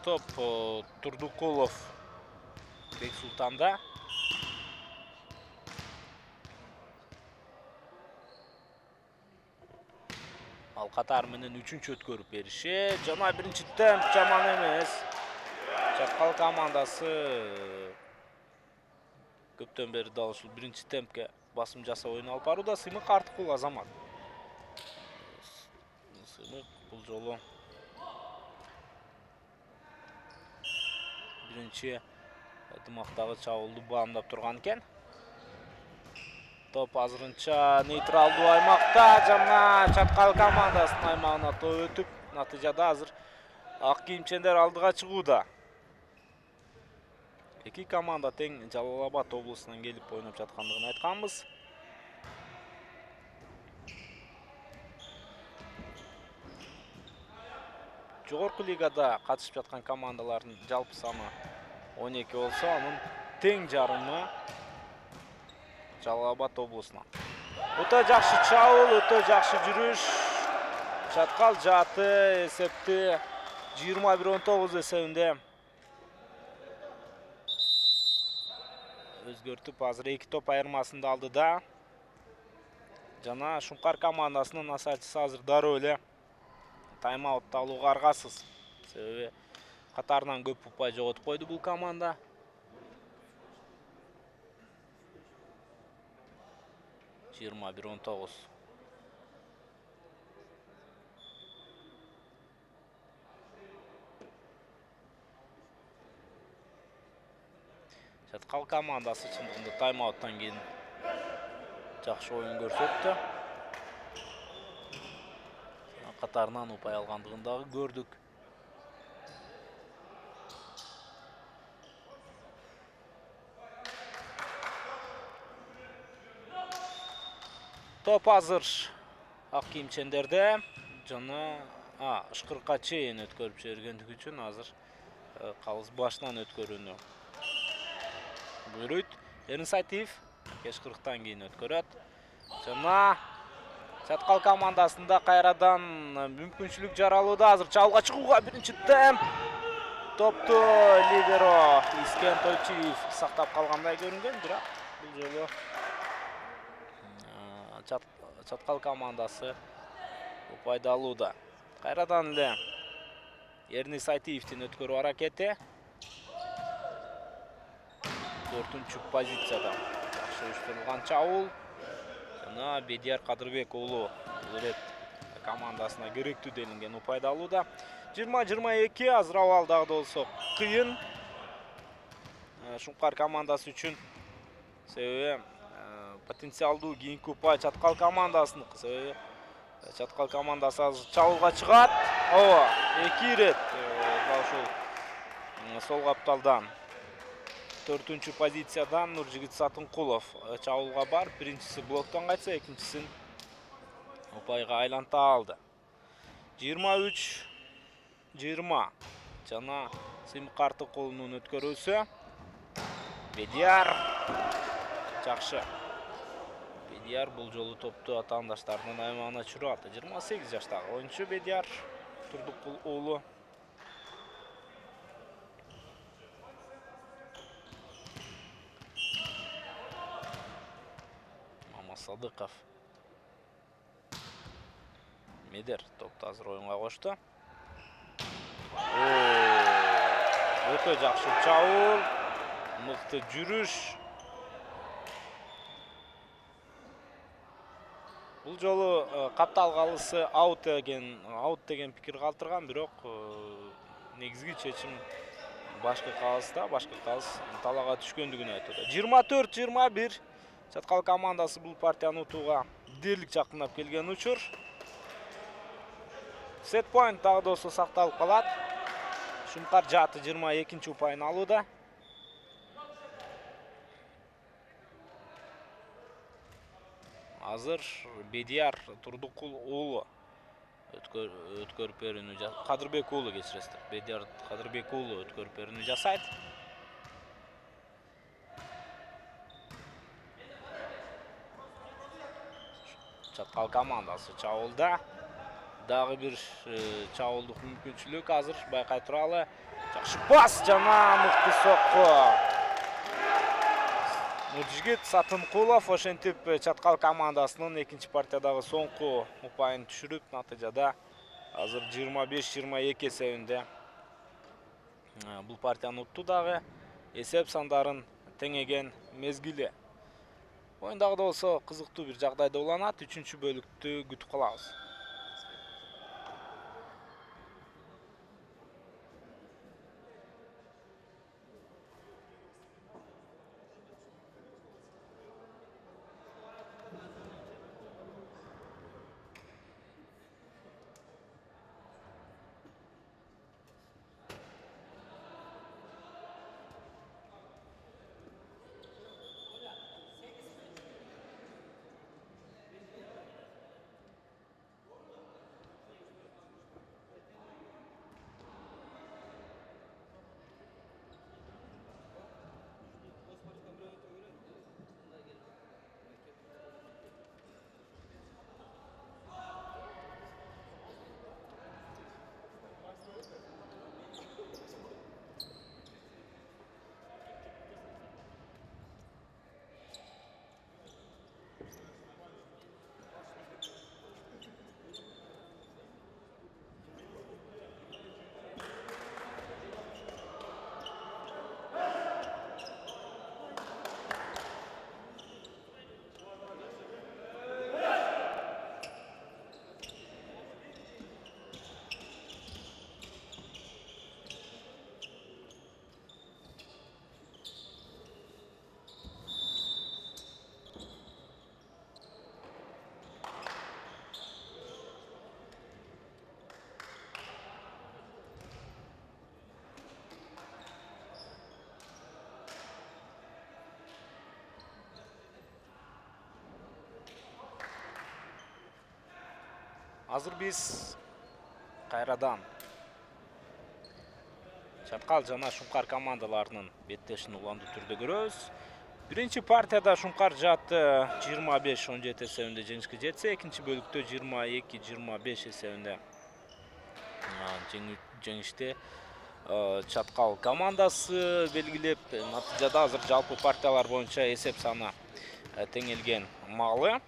Speaker 1: Топ Турдукулов Бексултанда. Ал катар менен үчүнчү өткөрүп бериши. Жана биринчи темп жаман эмес. Чаткал командасы көптөн бери дал ушул биринчи темпке басым жасап ойун алып барууда. Сыймык Артыкул Азамат. Сыймык бул жолу биринчи ынтымактагы чабуулду баамдап турган экен. Топ азырынча нейтралдуу аймакта жана чаткал командасынын аймагына топ өтүп, натыйжада азыр ак кийимчендер алдыга чыгууда. Эки команда тең Жалал Абад облусунан келип ойноп жаткандыгын айтканбыз. Жогорку лигада катышып жаткан командалардын жалпы саны он эки болсо, анын тең жарымы Жалал Абад облусунан. Өтө жакшы чабуул, өтө жакшы жүрүш. Чаткал жааты эсепти жыйырма бир он тогуз эсебинде өзгөртүп, азыр эки топ айырмасында алдыда. Жана Шумкар командасынын насаачысы азыр дароо эле тайм-аут алууга аргасыз. Себеби катарынан көп упай жоготуп койду бул команда. жыйырма бир он тогуз. Чаткал командасы чындыгында тайм-ауттан кийин жакшы оюн көрсөттү. Катарынан упай алгандыгын дагы көрдүк. Топ азыр ак кийимчендерде жана ышкырыкка чейин өткөрүп жибергендиги үчүн азыр калыс башынан өткөрүүнү буйруйт. Эрнис Айтиев ышкырыктан кийин өткөрөт. Жана чаткал командасында кайрадан мүмкүнчүлүк жаралууда. Азыр чабуулга чыгууга биринчи темп. Топту либеро Искен Тойчиев сактап калгандай көрүнгөн, бирок бул жолу чаткал командасы упайды алууда. Кайрадан эле Эрнис Айтиевдин өткөрүү аракети. Төртүнчү позицияда жакшы уюштурулган чабуул. Жана Бедияр Кадырбек уулу бул ирет командасына керектүү делинген упайды алууда. жыйырма жыйырма эки азыр абал дагы да болсо кыйын Шумкар командасы үчүн. Себеби потенциалдуу кийинки упай чаткал командасыныкы. Себеби чаткал командасы азыр чабуулга чыгат. Ооба, эки ирет ушул сол капталдан төртүнчү позициядан Нуржигит Сатынкулов чабуулга бар. Биринчиси блоктон кайтса, экинчисин упайга айланта алды. жыйырма үч жыйырма жана Сыймык Артыкулунун өткөрүүсү. Бедияр жакшы. Бедияр бул жолу топту атаандаштарынын аймагына чыгарып атты. жыйырма сегиз жаштагы оюнчу Бедияр Турдукул уулу. Садыков Медер топту азыр оюнга кошту. Өтө жакшы чабуул, мыкты жүрүш. Бул жолу каптал калысы аут деген аут деген пикир калтырган, бирок негизги чечим башкы калыста, башкы калыс талаага түшкөндүгүн айтты. жыйырма төрт жыйырма бир чаткал командасы бул партияны утууга дээрлик жакындап келген учур. Сет point дагы да болсо сакталып калат. Шумкар Жаты жыйырма экинчи упайын алууда. Азыр Бедияр Турдукул уулу өткөрүп берүүнү Кадырбек уулу кечиресиздер. Бедияр Кадырбек уулу өткөрүп берүүнү жасайт. Чаткал командасы чабуулда. Дагы бир чабуулдук мүмкүнчүлүк азыр байкай туралы. Жакшы пас жана мыкты сокку. Нуржигит Сатынкулов ошентип чаткал командасынын экинчи партиядагы соңку упайын түшүрүп, натыйжада азыр жыйырма беш жыйырма эки эсебинде бул партияны утту дагы. Эсеп сандарын теңеген мезгили. Оюн дагы да болсо кызыктуу бир жагдайда уланат. Үчүнчү бөлүктү күтүп калабыз. Азыр биз кайрадан Чаткал жана Шуңкар командаларынын беттешин уландуу түрдө көрөбүз. Биринчи партияда Шуңкар жааты жыйырма беш он жети эсебинде жеңишке жетсе, экинчи бөлүктө жыйырма эки жыйырма беш эсебинде жеңиште Чаткал командасы белгилеп, натыйжада азыр жалпы партиялар боюнча эсеп саны теңелген маалы.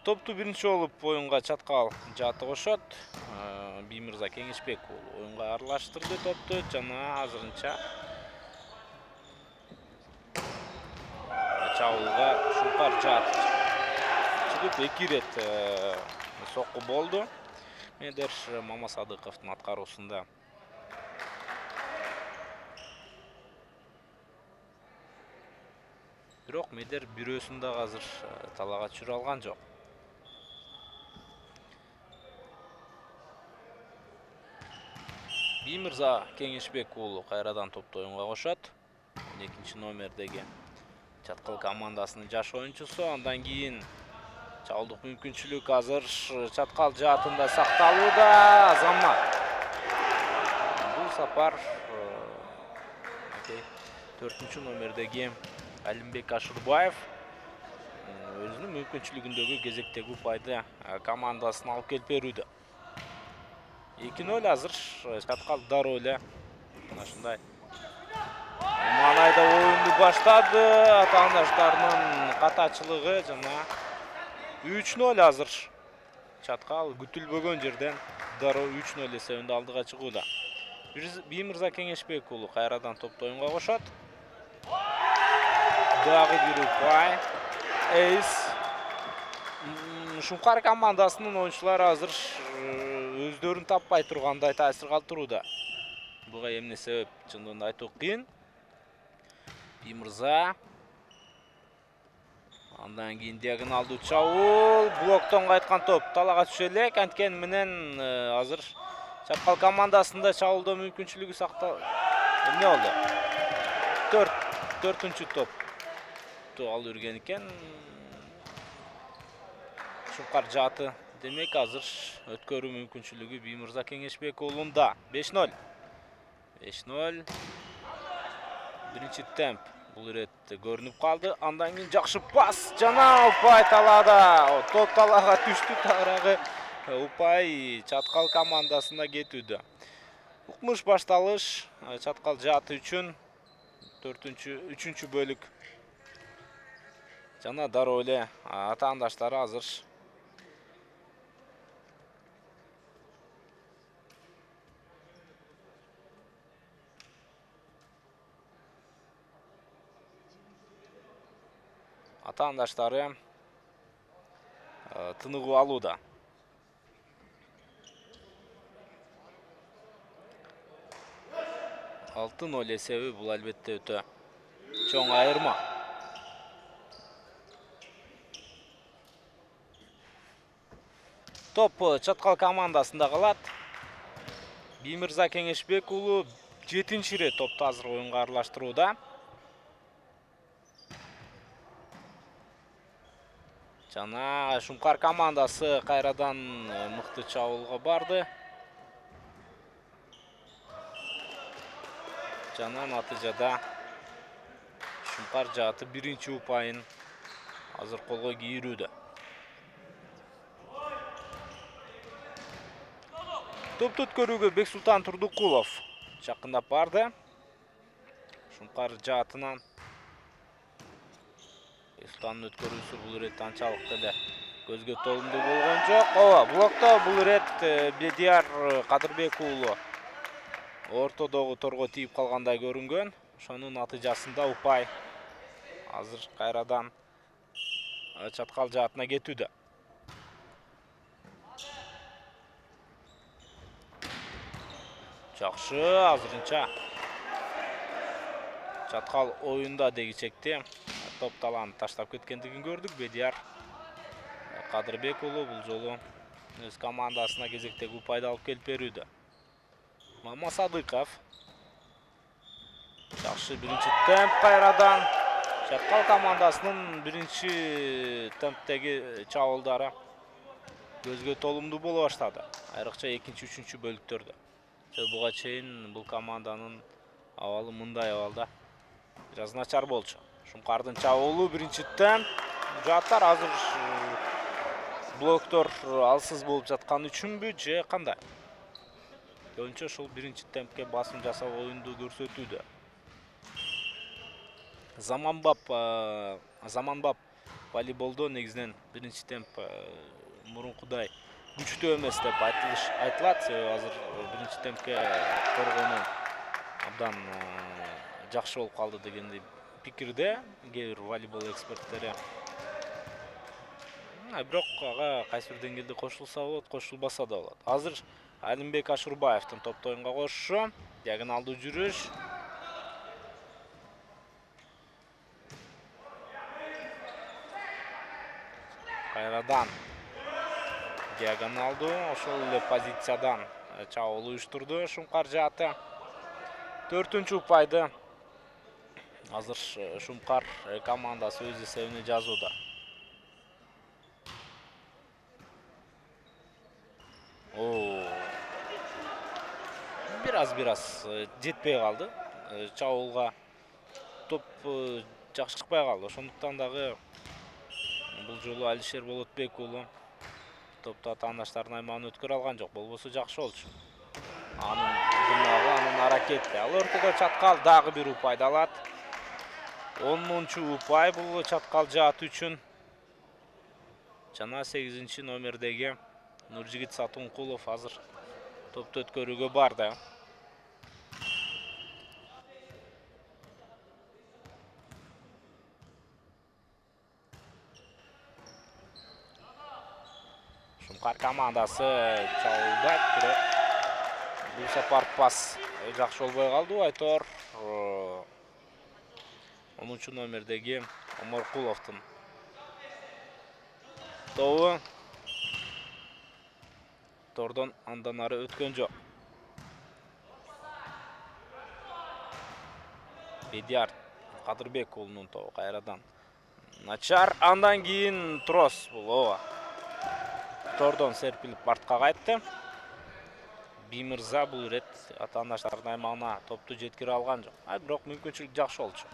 Speaker 1: Топту биринчи болуп оюнга Чаткал жааты кошот. Биймырза Кеңешбек оюнга аралаштырды топту жана азырынча чабуулга Шуңкар жааты чыгып эки ирет сокку болду. Медер Мамасадыковдун аткаруусунда. Бирок Медер бирөөсүн дагы азыр талаага түшүрө алган жок. Биймырза Кеңешбек уулу кайрадан топту оюнга кошот. он экинчи номердеги Чаткал командасынын жаш оюнчусу. Андан кийин чабуулдук мүмкүнчүлүк азыр Чаткал жаатында сакталууда. Азамат. Бул сапар төртүнчү номердеги Алимбек Ашурбаев өзүнүн мүмкүнчүлүгүндөгү кезектеги упайды командасына алып келип берүүдө. эки ноль азыр Чаткал дароо эле мына ушундай маанайда оюнду баштады. Атаандаштарынын катачылыгы жана үч ноль азыр Чаткал күтүлбөгөн жерден дароо үч ноль эсебинде алдыга чыгууда. Биймырза Кеңешбек уулу кайрадан топту оюнга кошот. Дагы бир упай. Эйс. Шуңкар командасынын оюнчулары азыр өздөрүн таппай тургандай таасир калтырууда. Буга эмне себеп чындыгында айтуу кыйын. Биймырза. Андан кийин диагоналдуу чабуул, блоктон кайткан топ талаага түшө элек. Анткени менен азыр Чаткал командасында чабуулдоо мүмкүнчүлүгү сактал. Эмне болду? төрт төртүнчү топту алып жүрген экен. Шуңкар жааты демек азыр өткөрүү мүмкүнчүлүгү Биймырза Кеңешбек уулунда. беш ноль. беш ноль. Биринчи темп бул ирет көрүнүп калды. Андан кийин жакшы пас жана упай талаада. Топ талаага түштү, тарагы упай Чаткал командасына кетүүдө. Укмуш башталыш Чаткал жааты үчүн төртүнчү үчүнчү бөлүк. Жана дароо эле атаандаштары азыр атаандаштары тыныгуу алууда. алты ноль эсеби бул албетте өтө чоң айырма. Топ Чаткал командасында калат. Биймырза Кеңешбек уулу жетинчи ирет топту азыр оюнга аралаштырууда. Жана Шуңкар командасы кайрадан мыкты чабуулга барды. Жана натыйжада Шуңкар жааты биринчи упайын азыр колго кийирүүдө. Топту өткөрүүгө Бексултан Турдукулов жакындап барды. Шуңкар жаатынан Бексултандын өткөрүүсү бул ирет анчалык деле көзгө толумдуу болгон жок. Ооба, блокто бул ирет Бедияр Кадырбек уулу ортодогу торго тийип калгандай көрүнгөн. Ошонун натыйжасында упай азыр кайрадан Чаткал жаатына кетүүдө. Жакшы, азырынча Чаткал оюнда деги чекте топ талааны таштап кеткендигин көрдүк. Бедияр Кадырбек уулу бул жолу өз командасына кезектеги упайды алып келип берүүдө. Мамасадыков. Жакшы биринчи темп кайрадан Чаткал командасынын биринчи темптеги чабуулдары көзгө толумдуу боло баштады. Айрыкча экинчи, үчүнчү бөлүктөрдө. Буга чейин бул команданын абалы мындай абалда бир аз начар болчу. Шумкардын чабуулу биринчи темп жааттар азыр блоктор алсыз болуп жаткан үчүнбү же кандай? Көбүнчө ушул биринчи темпке басым жасап оюнду көрсөтүүдө. Заманбап заманбап волейболдо негизинен биринчи темп мурункудай күчтүү эмес деп айтылат. Азыр биринчи темпке коргонуу абдан жакшы болуп калды дегенди пикирде кээ бир волейбол эксперттери. Бирок ага кайсы бир деңгээлде кошулса болот, кошулбаса да болот. Азыр Алимбек Ашурбаевдин топто оюнга кошушу, диагоналдуу жүрүш. Кайрадан диагоналдуу, ошол эле позициядан чабуул уюштурду Шумкар жааты. Төртүнчү упайды азыр Шумкар командасы өз эсебине жазууда. Бир аз бир аз жетпей калды. Чабуулга топ жакшы чыкпай калды. Ошондуктан дагы бул жолу Алишер Болотбек уулу топто атаандаштардын аймагын өткөрө алган жок. Болбосо жакшы болчу. Анын дымагы, анын аракети. Ал ортодо чаткал дагы бир упайды алат. онунчу упай бул чаткал жаат үчүн. Жана сегизинчи номердеги Нуржигит Сатункулов азыр топто өткөрүүгө барды. Шумкар командасы чабуулдайт, бирок бул сапар пас жакшы болбой калды. Айтор онунчу номердеги Оморкуловдун тобу тордон андан ары өткөн жок. Бедиар Кадырбек уулунун тобу кайрадан начар, андан кийин трос бул ооба. Тордон серпилип артка кайтты. Бимирза бул ирет атаандаштардын аймагына топту жеткире алган жок. А бирок мүмкүнчүлүк жакшы болчу.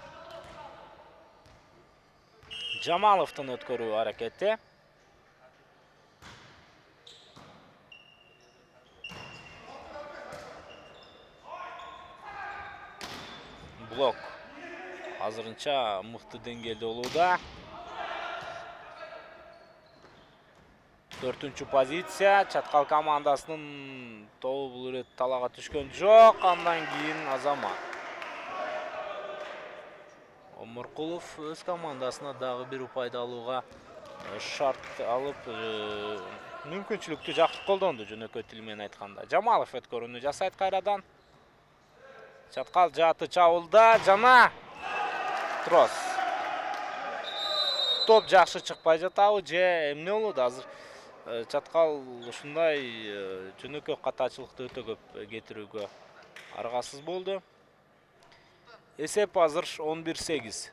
Speaker 1: Жамаловдун өткөрүү аракети. Блок азырынча мыкты деңгээлде болууда. Төртүнчү позиция. Чаткал командасынын тобу бул ирет талаага түшкөн жок. Андан кийин Азамат. Оморкулов өз командасына дагы бир упайды алууга шарт алып, мүмкүнчүлүктү жакшы колдонду, жөнөкөй тил менен айтканда. Жамалов өткөрүүнү жасайт кайрадан. Чаткал жааты чабуулда жана трос. Топ жакшы чыкпай жатабы же эмне болот? Азыр чаткал ушундай жөнөкөй катачылыкты өтө көп кетирүүгө аргасыз болду. Эсеп азыр он бир сегиз.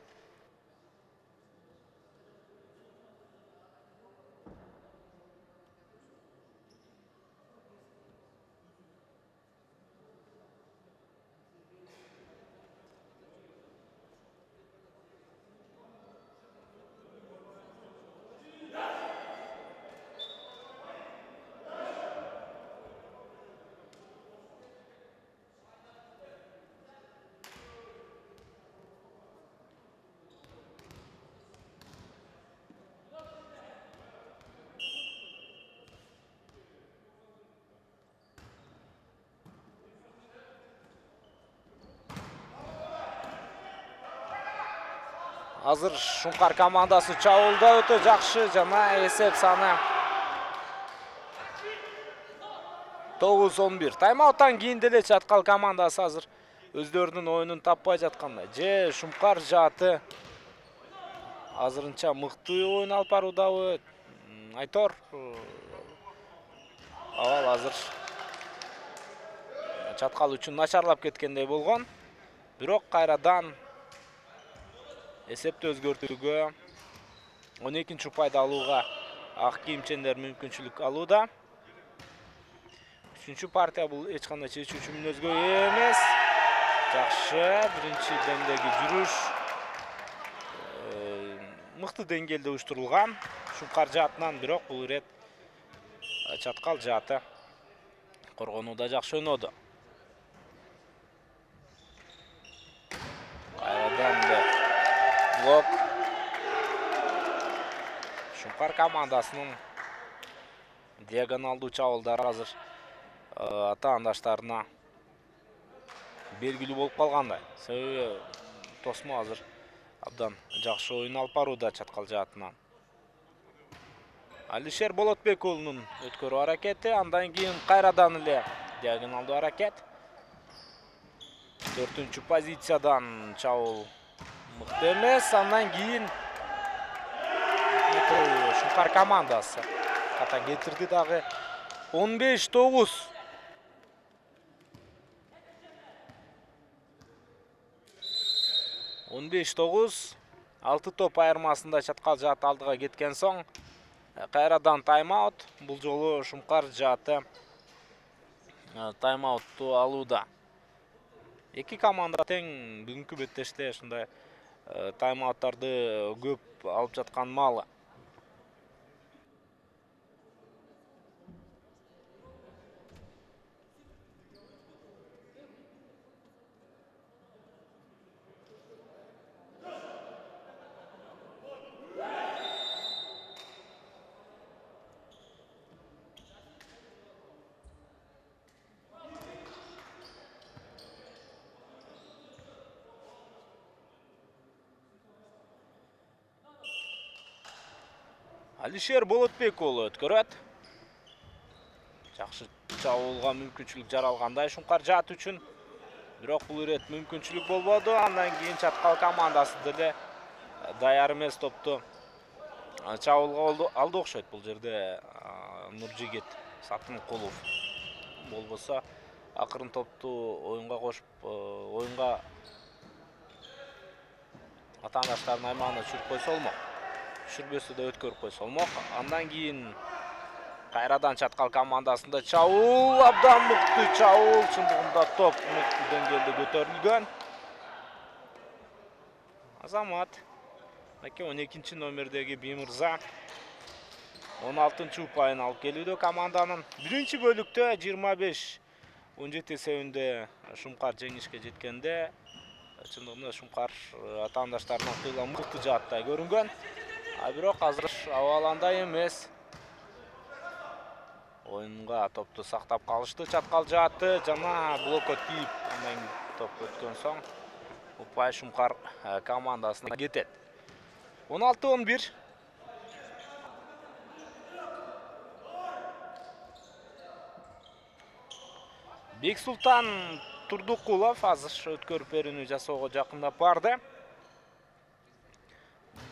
Speaker 1: Азыр Шумкар командасы чабуулда өтө жакшы жана эсеп саны тогуз он бир. Тайм-ауттан кийин деле чаткал командасы азыр өздөрүнүн оюнун таппай жаткандай. Же Шумкар жааты азырынча мыкты оюн алып баруудабы? Айтор абал азыр чаткал үчүн начарлап кеткендей болгон. Бирок кайрадан эсепти өзгөртүүгө он экинчи упайды алууга ак кийимчендер мүмкүнчүлүк алууда. Үчүнчү партия бул эч кандай чечүүчү мүнөзгө эмес. Жакшы, биринчи демдеги жүрүш мыкты деңгээлде уюштурулган. Шумкар жаатынан, бирок бул ирет чаткал жааты коргонууда жакшы өнөдү. Кайрадан блок. Шумкар командасынын диагоналдуу чабуулдары азыр атаандаштарына белгилүү болуп калгандай. Себеби тосмо азыр абдан жакшы оюн алып барууда чаткал жаатынан. Алишер Болотбек уулунун өткөрүү аракети, андан кийин кайрадан эле диагоналдуу аракет. Төртүнчү позициядан чабуул мыкты эмес, андан кийин Шумкар командасы ката кетирди дагы. он беш тогуз. он беш тогуз. алты топ айырмасында чаткал жаат алдыга кеткен соң кайрадан тайм-аут. Бул жолу Шумкар жааты тайм-аутту алууда. Эки команда тең бүгүнкү беттеште ушундай тайм-ауттарды көп алып жаткан маалы. Алишер Болотбек уулу өткөрөт. Жакшы чабуулга мүмкүнчүлүк жаралгандай Шумкар жаат үчүн. Бирок бул ирет мүмкүнчүлүк болбоду. Андан кийин чаткал командасы деле даяр эмес топту чабуулга алды окшойт бул жерде Нуржигит Сатынкулов. Болбосо акырын топту оюнга кошуп, оюнга атаандаштардын аймагына түшүрүп койсо болмок. Түшүрбөсө да өткөрүп койсо болмок. Андан кийин кайрадан чаткал командасында чабуул, абдан мыкты чабуул. Чындыгында топ мыкты деңгээлде көтөрүлгөн. Азамат Аке он экинчи номердеги Бимырза он алтынчы упайын алып келүүдө команданын. Биринчи бөлүктө жыйырма беш он жети эсебинде Шумкар жеңишке жеткенде чындыгында Шумкар атаандаштарынан кыйла мыкты жааттай көрүнгөн. А бирок азыр абаландай эмес. Оюнга топту сактап калышты чаткал жааты жана блокко тийип андан топ өткөн соң упай Шумкар командасына кетет. он алты он бир. Бексултан Турдукулов азыр өткөрүп берүүнү жасоого жакындап барды.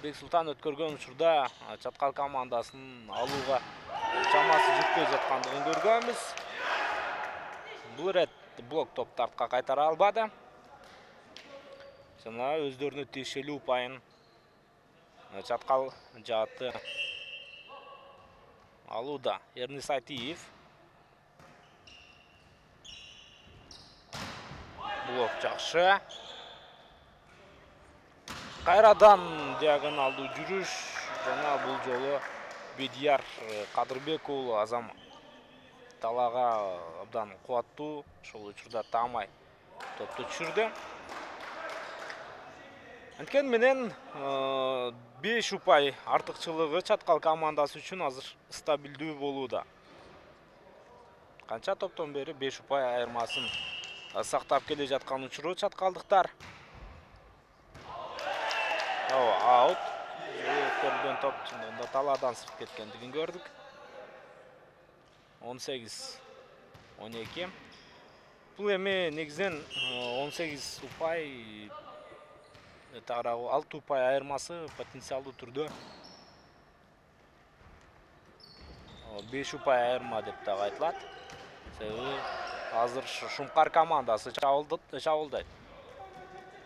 Speaker 1: Бексултан өткөргөн учурда чаткал командасын алууга чамасы жетпей жаткандыгын көргөнбүз. Бул ирет блок топту артка кайтара албады. Жана өздөрүнө тиешелүү упайын чаткал жааты алууда. Эрнис Айтиев. Блок жакшы. Кайрадан диагоналдуу жүрүш жана бул жолу Бедияр Кадырбек уулу Азам талаага абдан кубаттуу, ошол учурда таамай топту түшүрдү. Анткени менен беш упай артыкчылыгы чаткал командасы үчүн азыр стабилдүү болууда. Канча топтон бери беш упай айырмасын сактап келе жаткан учуру чаткалдыктар. Аут. Өткөрүлгөн топ чындыгында талаадан сырт кеткендигин көрдүк. он сегиз он эки. Бул эми негизинен он сегиз упай тарабы алты упай айырмасы потенциалдуу түрдө беш упай айырма деп дагы айтылат. Себеби азыр Шумкар командасы чабуулдайт.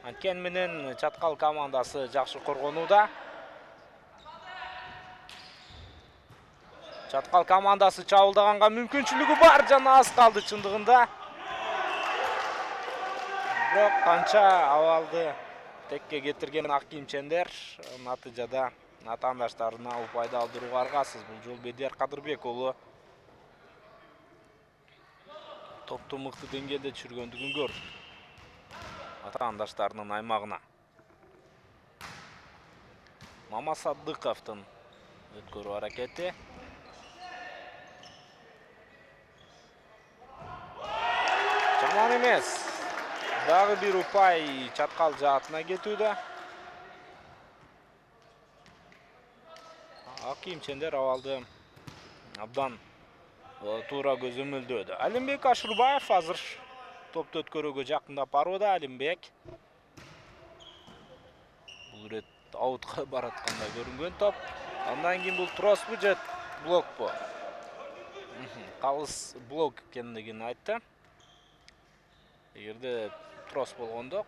Speaker 1: Анткени менен чаткал командасы жакшы коргонууда. Чаткал командасы чабылдаганга мүмкүнчүлүгү бар, жана аз калды чындыгында. Бирок канча абалды текке кетирген ак кийимчендер натыйжада атаандаштарына упайды алдырууга аргасыз. Бул жолу Бедияр Кадырбек уулу топту мыкты деңгээлде түшүргөндүгүн көрдүк атаандаштарынын аймагына. Мамасадыковдун өткөрүү аракети. Жаман эмес. Дагы бир упай чаткал жаатына кетүүдө. Ак кийимчендер абалды абдан туура көзөмөлдөөдү. Алимбек Ашурбаев азыр топту өткөрүүгө жакындап барууда. Алимбек бул ирет аутка бараткандай көрүнгөн топ. Андан кийин бул троспу же блокпу? Калыс блок экендигин айтты. Эгерде трос болгондо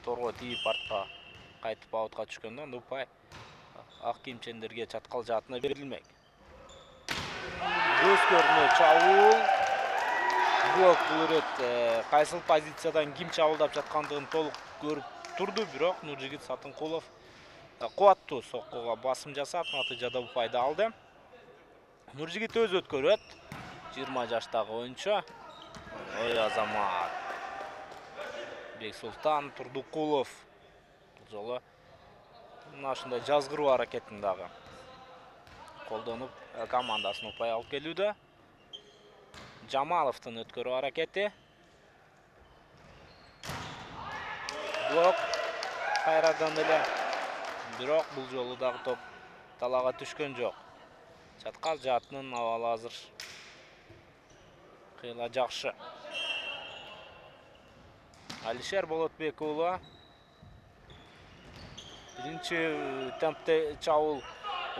Speaker 1: торго тийип артка кайтып аутка түшкөндө анда упай ак кийимчендерге чаткал жаатына берилмек. Көзкөрүнө чабуул. Блок бул ирет кайсыл позициядан ким чабуулдап жаткандыгын толук көрүп турду, бирок Нуржигит Сатынкулов кубаттуу соккуга басым жасап, натыйжада упайды алды. Нуржигит өз өткөрөт. жыйырма жаштагы оюнчу. Ой Азамат. Бексултан Турдукулов бул жолу мына ушундай жазгыруу аракетин дагы колдонуп командасын упай алып келүүдө. Жамаловдун өткөрүү аракети. Блок кайрадан эле. Бирок бул жолу дагы топ талаага түшкөн жок. Чаткал жаатынын абалы азыр кыйла жакшы. Алишер Болотбек уулу биринчи темпте чабуул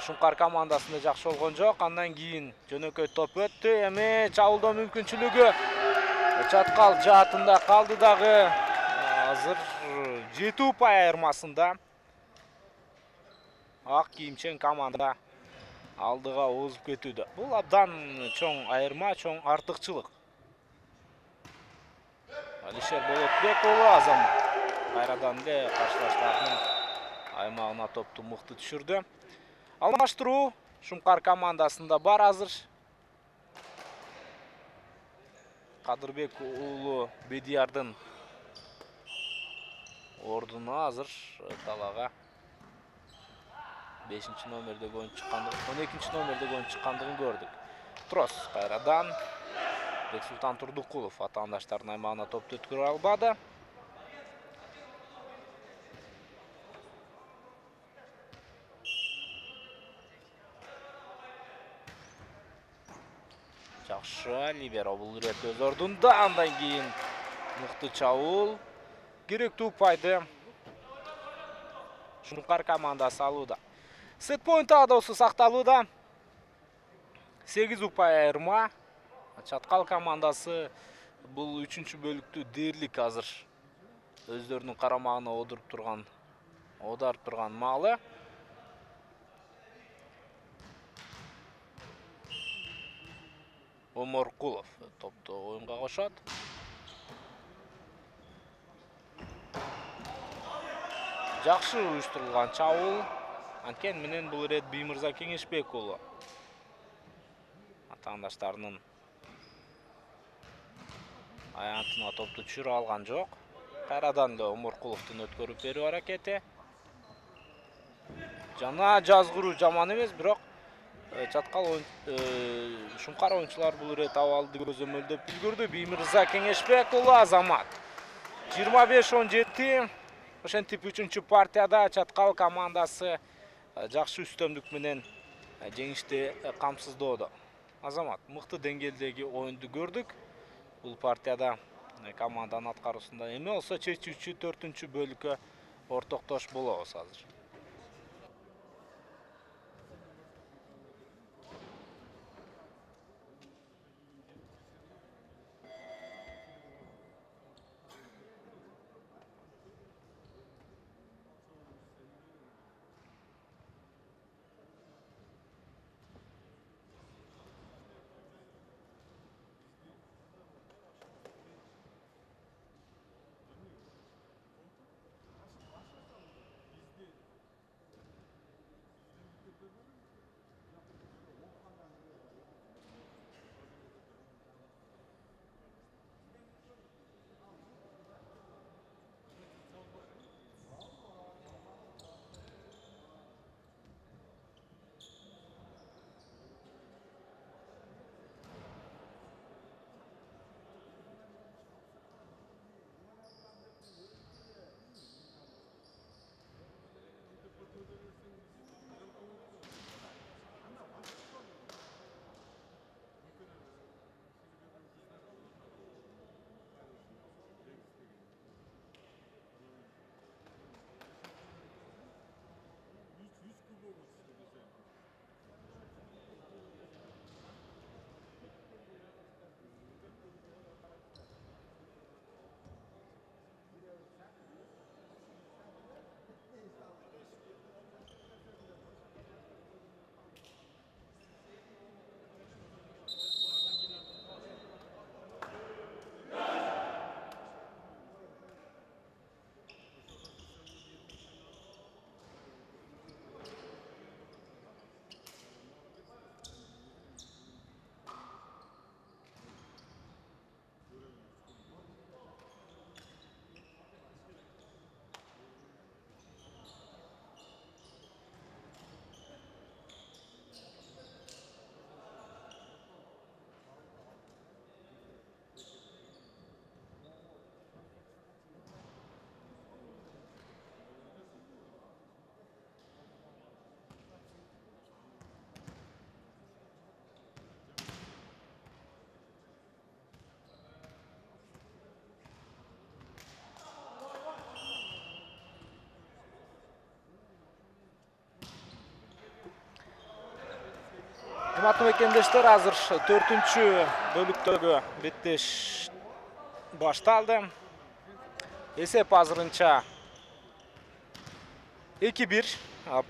Speaker 1: Шумкар командасында жакшы болгон жок. Андан кийин жөнөкөй топ өттү. Эми чабуулдоо мүмкүнчүлүгү чаткал жаатында калды дагы. Азыр жети упай айырмасында ак кийимчен команда алдыга озуп кетүүдө. Бул абдан чоң айырма, чоң артыкчылык. Алишер Болотбек уулу Азамат кайрадан эле каршылаштарынын аймагына топту мыкты түшүрдү. Алмаштыруу Шумкар командасында бар азыр. Кадырбек уулу Бедиярдын ордуна азыр талаага бешинчи номердеги оюнчу чыккандыгын, он экинчи номердеги оюнчу чыккандыгын көрдүк. Трос кайрадан Бексултан Турдукулов атаандаштарынын аймагына топту өткөрө албады. Жакшы либеро бул ирет өз ордунда. Андан кийин мыкты чабуул. Керектүү упайды Шумкар командасы алууда. Сет поинт таадоосу сакталууда. сегиз упай айырма. Чаткал командасы бул үчүнчү бөлүктү дээрлик азыр өздөрүнүн карамагына одуруп турган, оодарып турган маалы. Оморкулов топту оюнга кошот. Жакшы уюштурулган чабуул. Анткени менен бул ирет Биймырза Кеңешбек уулу атаандаштарынын аянтына топту түшүрө алган жок. Кайрадан эле Оморкуловдун өткөрүп берүү аракети. Жана жазгыруу жаман эмес, бирок чаткал Шумкар оюнчулар бул ирет абалды көзөмөлдөп үлгүрдү. Биймырза Кеңешбек уулу Азамат жыйырма беш он жети. Ошентип үчүнчү партияда чаткал командасы жакшы үстөмдүк менен жеңишти камсыздоодо. Азамат мыкты деңгээлдеги оюнду көрдүк. Бул партияда команданын аткаруусунда эми болсо чечүүчү төртүнчү бөлүккө ортоктош болобуз азыр. Урматтуу мекендештер, азыр төртүнчү бөлүктөгү беттеш башталды. Эсеп азырынча эки бир.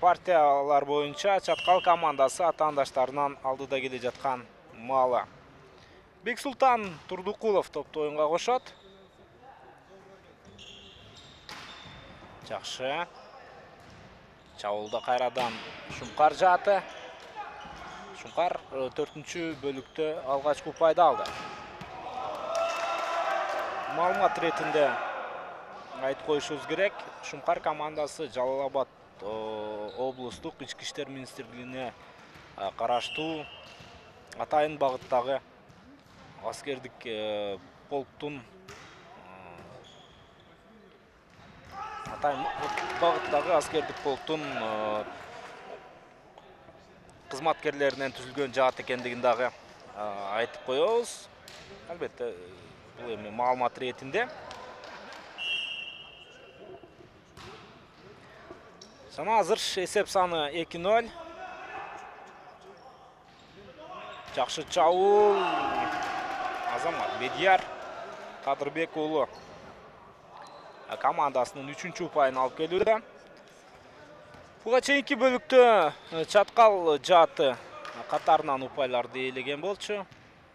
Speaker 1: Партиялар боюнча Чаткал командасы атаандаштарынан алдыда келе жаткан маалы. Бексултан Турдукулов топту оюнга кошот. Жакшы. Чабуулда кайрадан Шумкар жааты. Шумкар төртүнчү бөлүктө алгачкы упайды алды. Маалымат ретинде айтып коюшубуз керек. Шумкар командасы Жалал Абад облустук ички иштер министрлигине караштуу атайын багыттагы аскердик полктун атайын багыттагы аскердик полктун кызматкерлеринен түзүлгөн жаат экендигин дагы айтып коебуз. Албетте, бул эми маалымат ретинде. Жана азыр эсеп саны эки ноль. Жакшы чабуул. Азамат Бедияр Кадырбек уулу командасынын үчүнчү упайын алып келүүдө. Буга чейинки бөлүктө Чаткал жааты катарынан упайларды ээлеген болчу.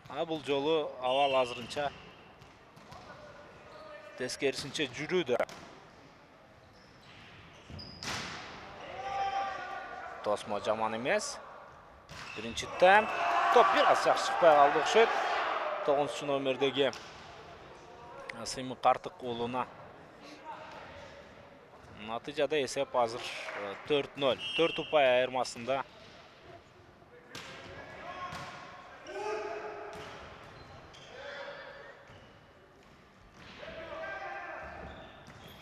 Speaker 1: А бул жолу абал азырынча тескерисинче жүрүүдө. Тосмо жаман эмес. Биринчи темп. Топ бир аз жакшы чыкпай калды окшойт. тогузунчу номердеги Сыймык Картык уулуна. Натыйжада эсеп азыр төрт ноль. төрт упай айырмасында.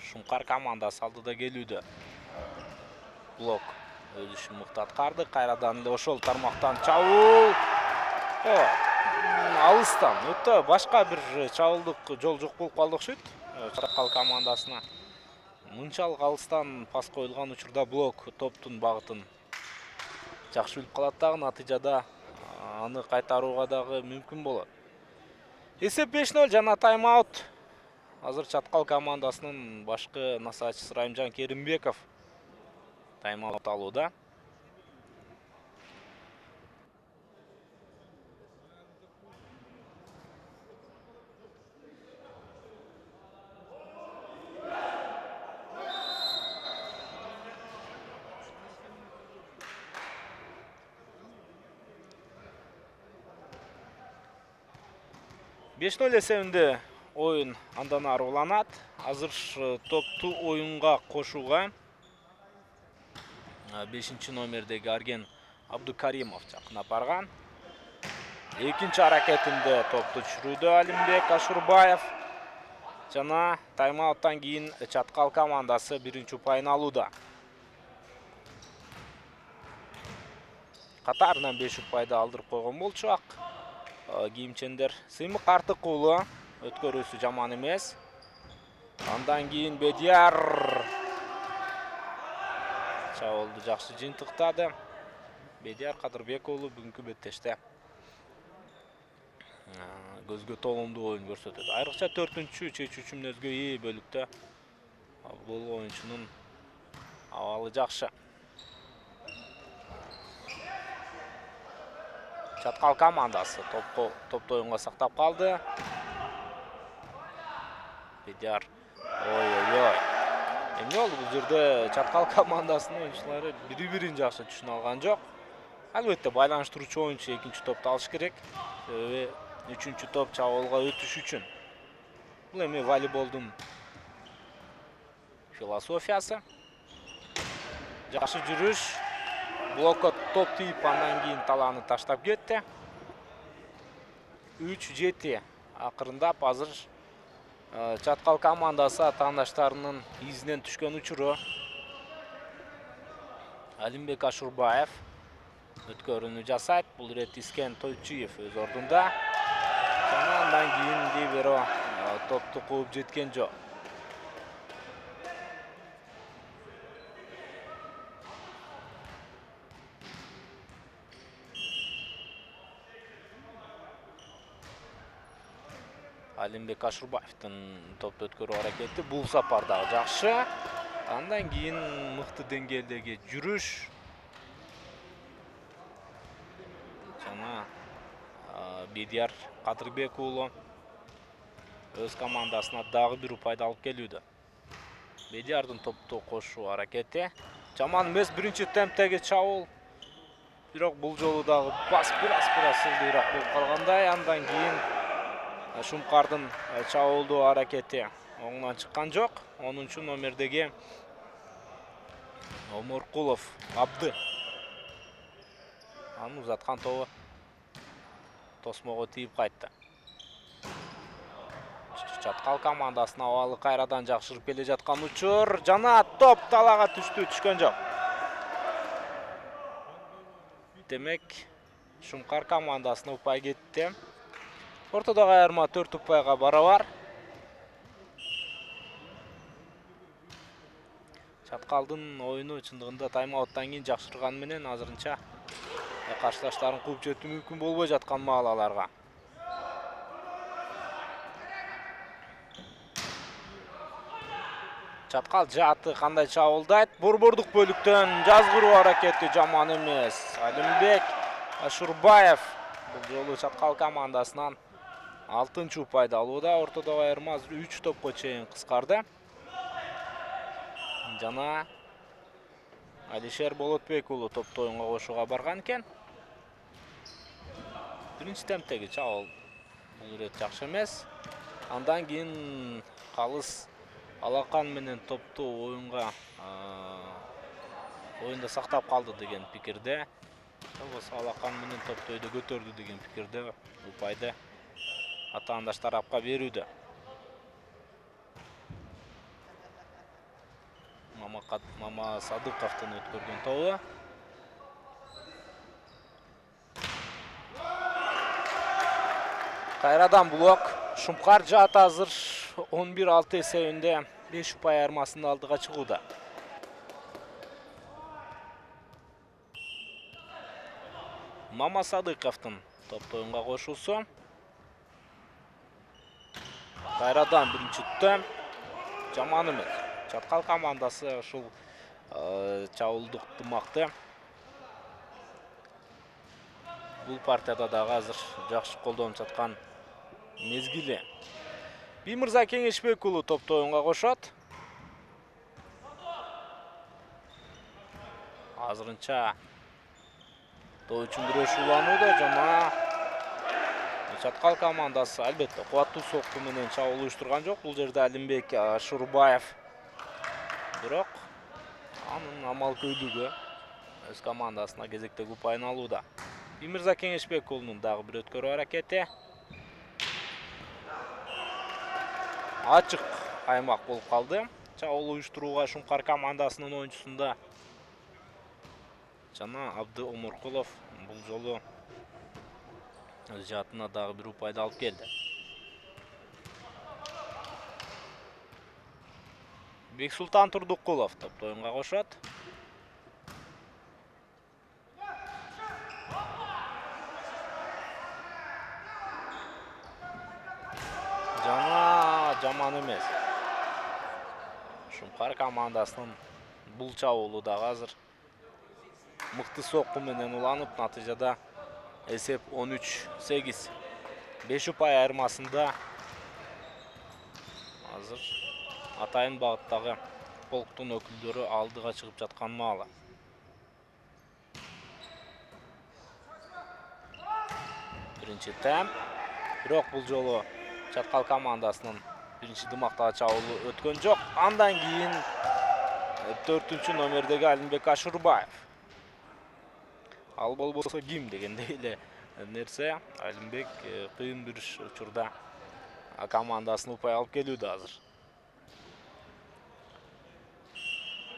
Speaker 1: Шумкар командасы алдыда келүүдө. Блок өз ишин мыкты аткарды. Кайрадан эле ошол тармактан чабуул. Алыстан өтө башка бир чабуулдук жол жок болуп калды окшойт. Чаткал командасына мынчалык алыстан пас коюлган учурда блок топтун багытын жакшы билип калат дагы, натыйжада аны кайтарууга дагы мүмкүн болот. Эсеп беш ноль жана тайм-аут. Азыр Чаткал командасынын башкы насаатчысы Райымжан Керимбеков тайм-аут алууда. беш ноль эсебинде оюн андан ары уланат. Азыр топту оюнга кошууга бешинчи номердеги Арген Абдукаримов жакынап барган. Экинчи аракетинде топту түшүрүүдө Алимбек Ашурбаев. Жана тайм-ауттан кийин Чаткал командасы биринчи упайын алууда. Катарынан беш упайды алдырып койгон болчу ак кийимчендер. Сыймык Картык уулу өткөрүүсү жаман эмес. Андан кийин Бедияр чабуулду жакшы жыйынтыктады. Бедияр Кадырбек уулу бүгүнкү беттеште көзгө толомдуу оюн көрсөтөт. Айрыкча төртүнчү чечүүчү мүнөзгө ээ бөлүктө бул оюнчунун абалы жакшы. Чаткал командасы топко топту оюнга сактап калды. Бедияр. Ой-ой-ой. Эмне болду бул жерде? Чаткал командасынын оюнчулары бири-бирин жакшы түшүнө алган жок. Албетте байланыштыруучу оюнчу экинчи топту алыш керек. Себеби үчүнчү топ чабуулга өтүш үчүн. Бул эми волейболдун философиясы. Жакшы жүрүш. Блокко топ тийип, андан кийин талааны таштап кетти. үч жети акырындап азыр Чаткал командасы атаандаштарынын изинен түшкөн учуру. Алимбек Ашурбаев өткөрүүнү жасайт. Бул ирет Искен Тойчиев өз ордунда. Жана андан кийин либеро топту кууп жеткен жок. Алимбек Ашурбаевдин топту өткөрүү аракети бул сапардагы жакшы. Андан кийин мыкты деңгээлдеги жүрүш. Жана Бедияр Кадырбек уулу өз командасына дагы бир упайды алып келүүдө. Бедиярдын топту кошуу аракети жаман эмес, биринчи темптеги чабуул. Бирок бул жолу дагы бас бираз-бираз сылдыйраак болуп калгандай. Андан кийин Шумкардын чабуулдуу аракети оңунан чыккан жок. онунчу номердеги Оморкулов Абды. Анын узаткан тобу тосмого тийип кайтты. Чаткал командасына абалы кайрадан жакшырып келе жаткан учур жана топ талага түштү, түшкөн жок. Демек, Шумкар командасына упай кетти. Ортодогу айырма төрт упайга барабар. Чаткалдын оюну чындыгында тайм-ауттан кийин жакшырганы менен азырынча каршылаштарын кууп жетүү мүмкүн болбой жаткан маал аларга. Чаткал жааты кандай чабуулдайт? Борбордук бөлүктөн жазгыруу аракети жаман эмес. Алимбек Ашурбаев бул жолу Чаткал командасынан алтынчы упайды алууда. Ортодогу айырма үч топко чейин кыскарды. Жана Алишер Болотбек уулу топту оюнга кошууга барган экен. Биринчи темптеги чабуул бул ирет жакшы эмес. Андан кийин калыс Алакан менен топту оюнга оюнда сактап калды деген пикирде. Болбосо Алакан менен топту өйдө көтөрдү деген пикирде упайды атаандаш тарапка берүүдө. Мама Садыковдун өткөргөн тобу. Кайрадан блок. Шумкар жаат азыр он бир алты эсебинде беш упай айырмасында алдыга чыгууда. Мама Садыковдун топту оюнга кошуусу. Кайрадан биринчи темп жаман эмес. Чаткал командасы ушул чабуулдук тымакты бул партияда дагы азыр жакшы колдонуп жаткан мезгили. Биймырза Кеңешбек уулу топту оюнга кошот. Азырынча топ үчүн күрөш уланууда жана Чаткал командасы албетте кубаттуу сокку менен чабуул уюштурган жок. Бул жерде Алимбек Ашурбаев. Бирок анын амал көйлүгү өз командасына кезектеги упайын алууда. Биймырза Кеңешбек уулунун дагы бир өткөрүү аракети. Ачык аймак болуп калды. Чабуул уюштурууга Шумкар командасынын оюнчусунда жана Абды Оморкулов бул жолу өз жаатына дагы бир упайды алып келди. Бексултан Турдукулов топту оюнга кошот. Жана жаман эмес. Шумкар командасынын бул чабуулу дагы азыр мыкты сокку менен уланып, натыйжада эсеп он үч сегиз. беш упай айырмасында азыр атайын багыттагы полктун өкүлдөрү алдыга чыгып жаткан маалы. Биринчи темп. Бирок бул жолу Чаткал командасынын биринчи дымактагы чабуулу өткөн жок. Андан кийин төртүнчү номердеги Алимбек Ашурбаев. Ал болбосо ким дегендей эле нерсе. Алимбек кыйын бир учурда командасына упай алып келүүдө азыр.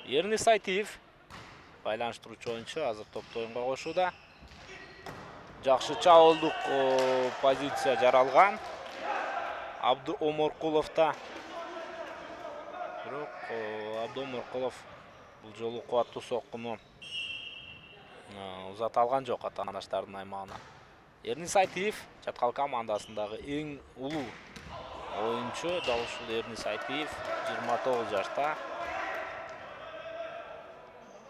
Speaker 1: Эрнис Айтиев байланыштыруучу оюнчу азыр топту оюнга кошууда. Жакшы чабуулдук позиция жаралган. Абды Оморкуловда. Бирок Абды Оморкулов бул жолу кубаттуу соккуну узата алган жок атаандаштардын аймагына. Эрнис Айтиев Чаткал командасындагы эң улуу Оюнчу дал ушул Эрнис Айтиев жыйырма тогуз жашта.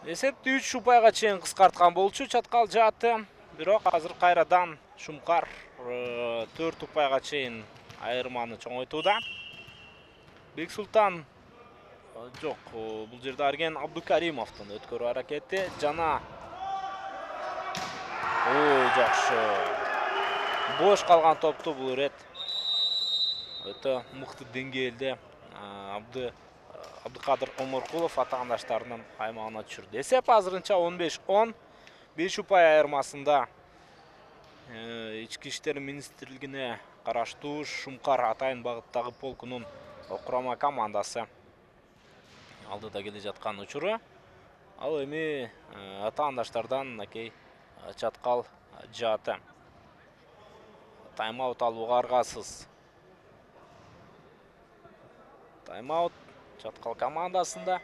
Speaker 1: Эсепти үч упайга чейин кыскарткан болчу чаткал жааты. Бирок азыр кайрадан Шумкар төрт упайга чейин айырманы чоңойтууда. Бексултан жок, бул жерде Арген Абдукаримовдун өткөрүү аракети жана ой жакшы. Бош калган топту бул ирет өтө мыкты деңгээлде Абды Абдыкадыр Оморкулов атаандаштарынын аймагына түшүрдү. Эсеп азырынча он беш он. беш упай айырмасында Ички иштер министрлигине караштуу Шумкар Атайын багыттагы полкунун курама командасы алдыда келе жаткан учуру. Ал эми атаандаштардан накей чаткал жааты. Тайм-аут алууга аргасыз. Тайм-аут чаткал командасында.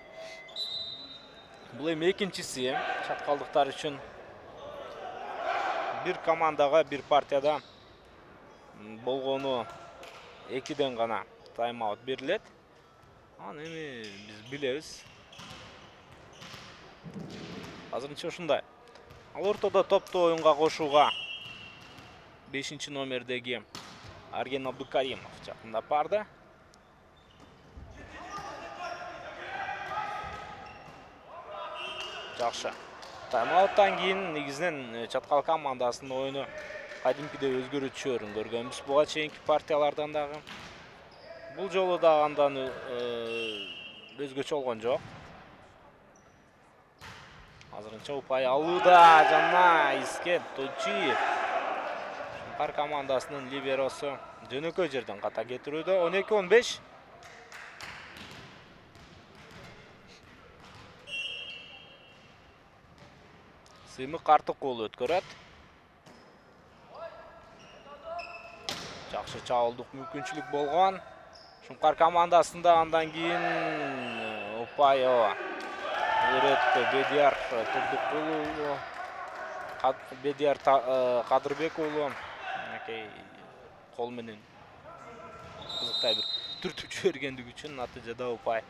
Speaker 1: Бул эми экинчиси чаткалдыктар үчүн. Бир командага бир партияда болгону экиден гана тайм-аут берилет. Аны эми биз билебиз. Азырынча ушундай. Ал ортодо топту оюнга кошууга бешинчи номердеги Арген Абдукаримов жакындап барды. Жакшы. Тайм-ауттан кийин негизинен чаткал командасынын оюну кадимкидей өзгөрүү түшөөрүн көргөнбүз буга чейинки партиялардан дагы. Бул жолу да андан өзгөчө болгон жок. Азырынча упай алууда жана Искен Точиев. Шумкар командасынын либеросу жөнөкөй жерден ката кетирүүдө. он эки он беш. Сыймык Артык уулу өткөрөт. Жакшы чабуулдук мүмкүнчүлүк болгон. Шумкар командасында андан кийин упай ооба. Ирет Бедияр Турдукулу, Бедияр Кадырбек уулу накей кол менен кызыктай бир түртүп жибергендиги үчүн натыйжада упай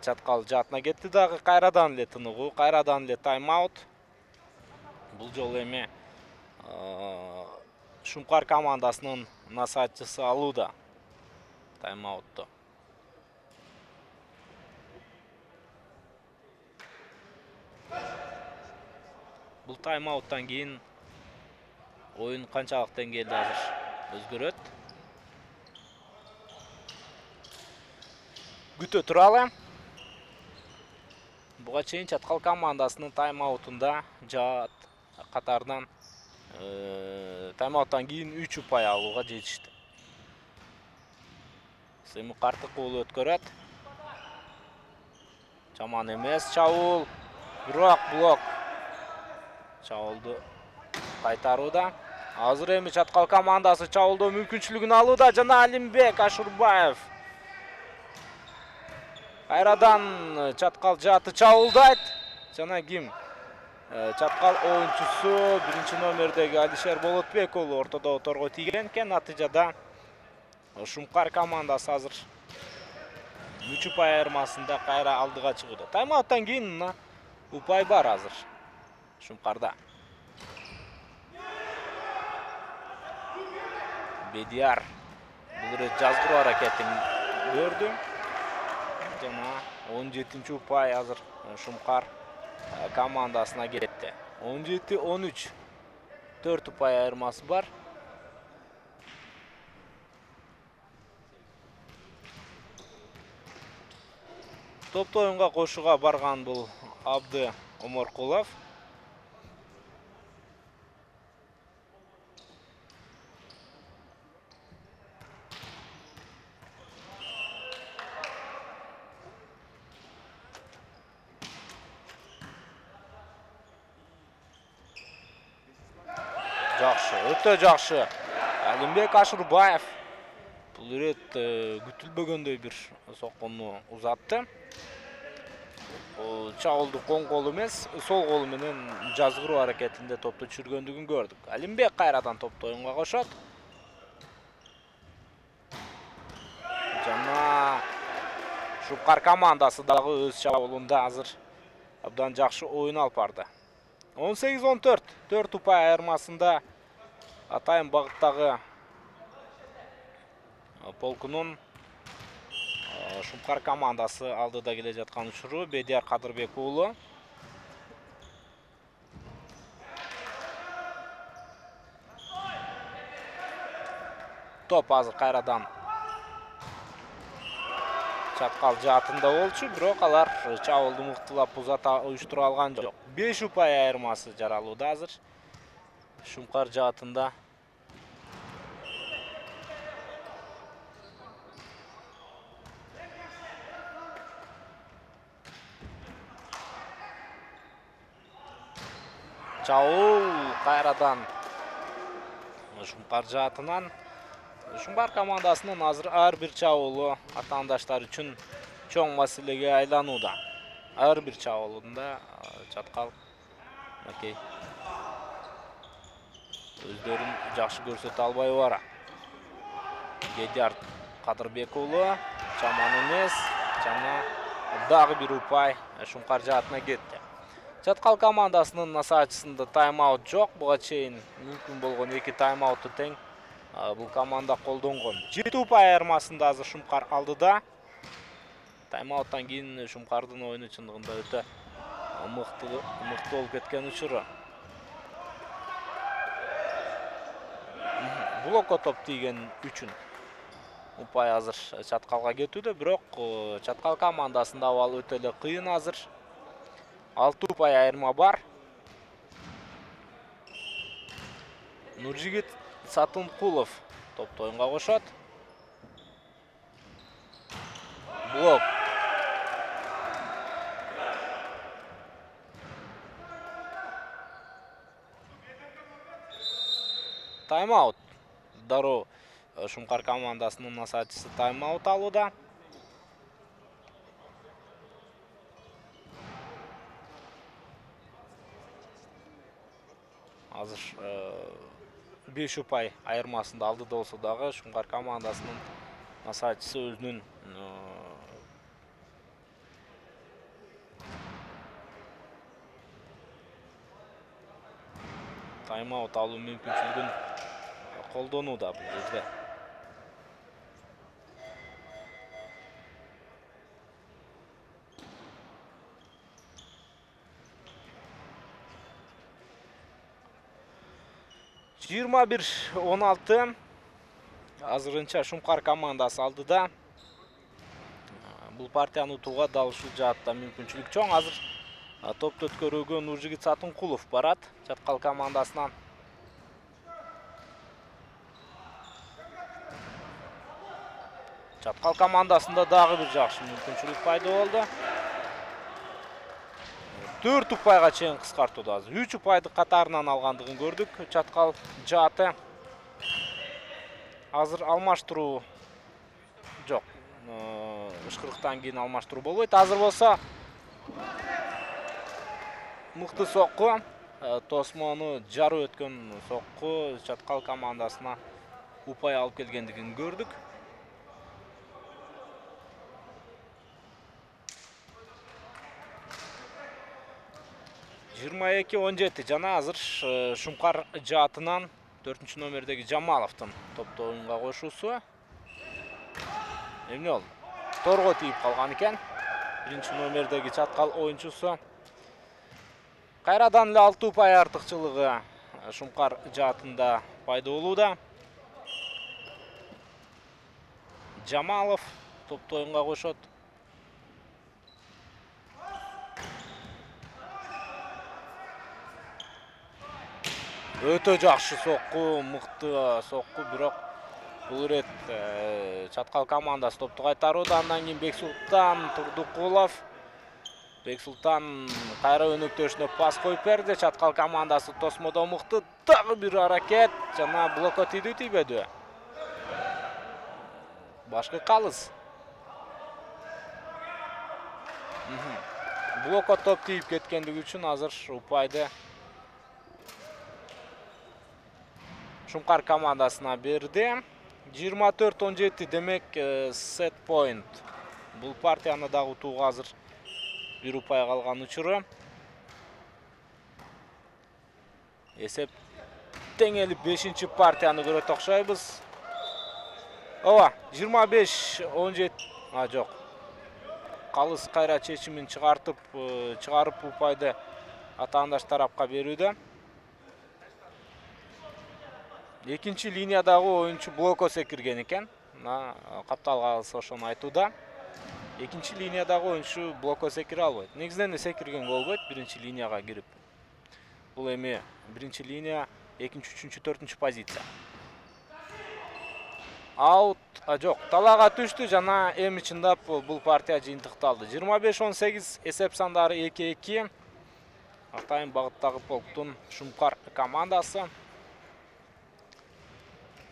Speaker 1: чаткал жаатына кетти дагы. Кайрадан эле тыныгуу, кайрадан эле тайм-аут. Бул жолу эми Шумкар командасынын насаатчысы алууда тайм-аутту. Бул тайм-ауттан кийин оюн канчалык деңгээлде азыр өзгөрөт? Күтө туралы. Буга чейин чаткал командасынын тайм-аутунда жаат катарынан тайм-ауттан кийин үч упай алууга жетишти. Сыймык Артык уулу өткөрөт. Жаман эмес чабуул. Бирок блок. Чабуулду кайтарууда. Азыр эми чаткал командасы чабуулдоо мүмкүнчүлүгүн алууда жана Алимбек Ашурбаев. Кайрадан чаткал жааты чабуулдайт. Жана ким? Чаткал оюнчусу биринчи номердеги Алишер Болотбек уулу ортодо оторго тийген экен. Натыйжада Шумкар командасы азыр үч упай айырмасында кайра алдыга чыгууда. Тайм-ауттан кийин упай бар азыр Шумкарда. Бедияр бул рет жазгыруу аракетин көрдү. Жана он жетинчи упай азыр Шумкар командасына кетти. он жети он үч. төрт упай айырмасы бар. Топту оюнга кошууга барган бул Абды Оморкулов. Жакшы, өтө жакшы. Алимбек Ашурбаев бул ирет күтүлбөгөндөй бир сокконду узатты. Чабуулдук оң колу эмес, сол колу менен жазгыруу аракетинде топту түшүргөндүгүн көрдүк. Алимбек кайрадан топту оюнга кошот. Шупкар командасы дагы өз чабуулунда азыр абдан жакшы оюн алып барды. он сегиз он төрт, төрт упай айырмасында атайын багыттагы полкунун Шупкар командасы алдыда келе жаткан учуру Бедияр Кадырбек уулу. Топ азыр кайрадан чаткал жаатында болчу, бирок алар чабуулду мыктылап узата уюштура алган жок. беш упай айырмасы жаралууда азыр Шупкар жаатында. Чабуул кайрадан Шупкар жаатынан. Шупкар командасынын азыр ар бир чабуулу атаандаштар үчүн чоң маселеге айланууда. Ар бир чабуулунда чаткал окей. Өздөрүн жакшы көрсөтө албай бара. Бедияр Кадырбек уулу чаман эмес, жана дагы бир упай Шупкар жаатына кетти. Чаткал командасынын насаачысында тайм-аут жок. Буга чейин мүмкүн болгон эки тайм-аутту тең бул команда колдонгон. жети упай айырмасында азыр Шупкар алдыда. Тайм-ауттан кийин Шупкардын оюну чындыгында өтө мыкты мыкты болуп кеткен учуру. Блокко топ тийген үчүн упай азыр чаткалга кетүүдө, бирок чаткал командасында абал өтө эле кыйын азыр. алты упай айырма бар. Нуржигит Сатынкулов топто оюнга кошот. Блок. Тайм-аут. Дароо Шупкар командасынын насаачысы тайм-аут алууда. Азыр беш упай айырмасында алдыда болсо дагы Шупкар командасынын насаачысы өзүнүн тайм-аут алуу мүмкүнчүлүгүн колдонууда бул жерде. жыйырма бир он алты азырынча Шупкар командасы алдыда. Бул партияны утууга дал ушул жаатта мүмкүнчүлүк чоң. Азыр топто өткөрүүгө Нуржигит Сатынкулов барат чаткал командасынан. Чаткал командасында дагы бир жакшы мүмкүнчүлүк пайда болду. төрт упайга чейин кыскартууда азыр. үч упайды катарынан алгандыгын көрдүк. Чаткал жааты азыр алмаштыруу жок. Ышкырыктан кийин алмаштыруу болбойт. Азыр болсо мыкты сокку, тосмону жарып өткөн сокку чаткал командасына упай алып келгендигин көрдүк. жыйырма эки он жети жана азыр Шупкар жаатынан төртүнчү номердеги Жамаловдун топто оюнга кошуусу. Эмне болду? Торго тийип калган экен. Биринчи номердеги чаткал оюнчусу. Кайрадан эле алты упай артыкчылыгы Шупкар жаатында пайда болууда. Жамалов топто оюнга кошот. Өтө жакшы сокку, мыкты сокку, бирок бул ирет чаткал командасы топту кайтарууда. Андан кийин Бексултан Турдукулов. Бексултан кайра өнөктөшүнө пас коюп берди. Чаткал командасы тосмодо мыкты. Дагы бир аракет жана блокко тийди, тийбеди. Башкы калыс. Блокко топ тийип кеткендиги үчүн азыр упайды Шупкар командасына берди. жыйырма төрт он жети демек сет point Бул партияны дагы утууга азыр бир упай калган учуру. Эсеп теңелип бешинчи партияны көрөт окшойбуз. Ооба, жыйырма беш он жети. А, жок. Калыс кайра чечимин чыгартып, чыгарып упайды атаандаш тарапка берүүдө. Экинчи линиядагы оюнчу блокко секирген экен. Мына капталга ошону айтууда. Экинчи линиядагы оюнчу блокко секире албайт. Негизинен секирген болбойт биринчи линияга кирип. Бул эми биринчи линия, экинчи, үчүнчү, төртүнчү позиция. Аут, а жок, талаага түштү жана эми чындап бул партия жыйынтыкталды. жыйырма беш он сегиз эсеп сандары эки эки. Атайын багыттагы полктун Шумкар командасы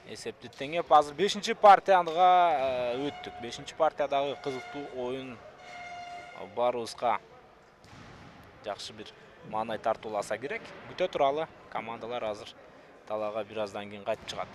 Speaker 1: эсепти теңеп азыр бешинчи партияга өттүк. бешинчи партиядагы кызыктуу оюн баарыбызга жакшы бир маанай тартууласа керек. Күтө туралы, командалар азыр талаага бир аздан кийин кайтып чыгат.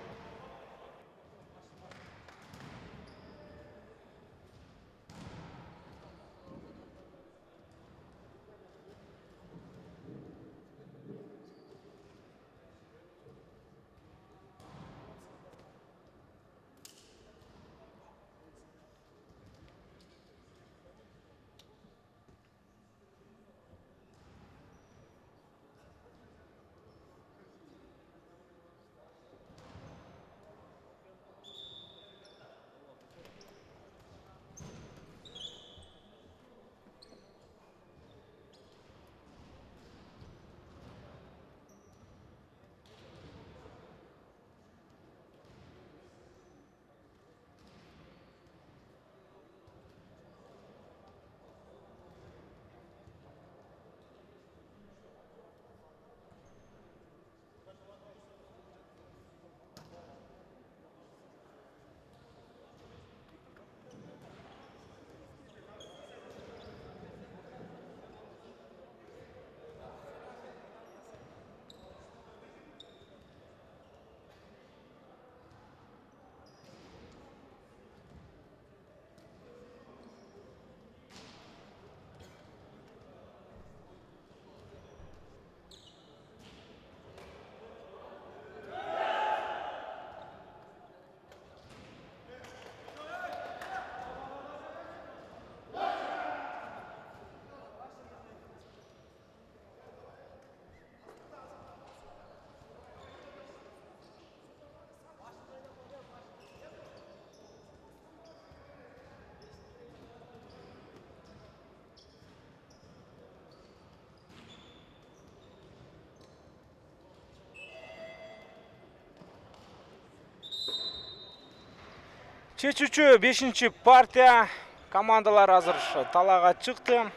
Speaker 1: Чечүүчү бешинчи партия командалар азыр талаага чыкты.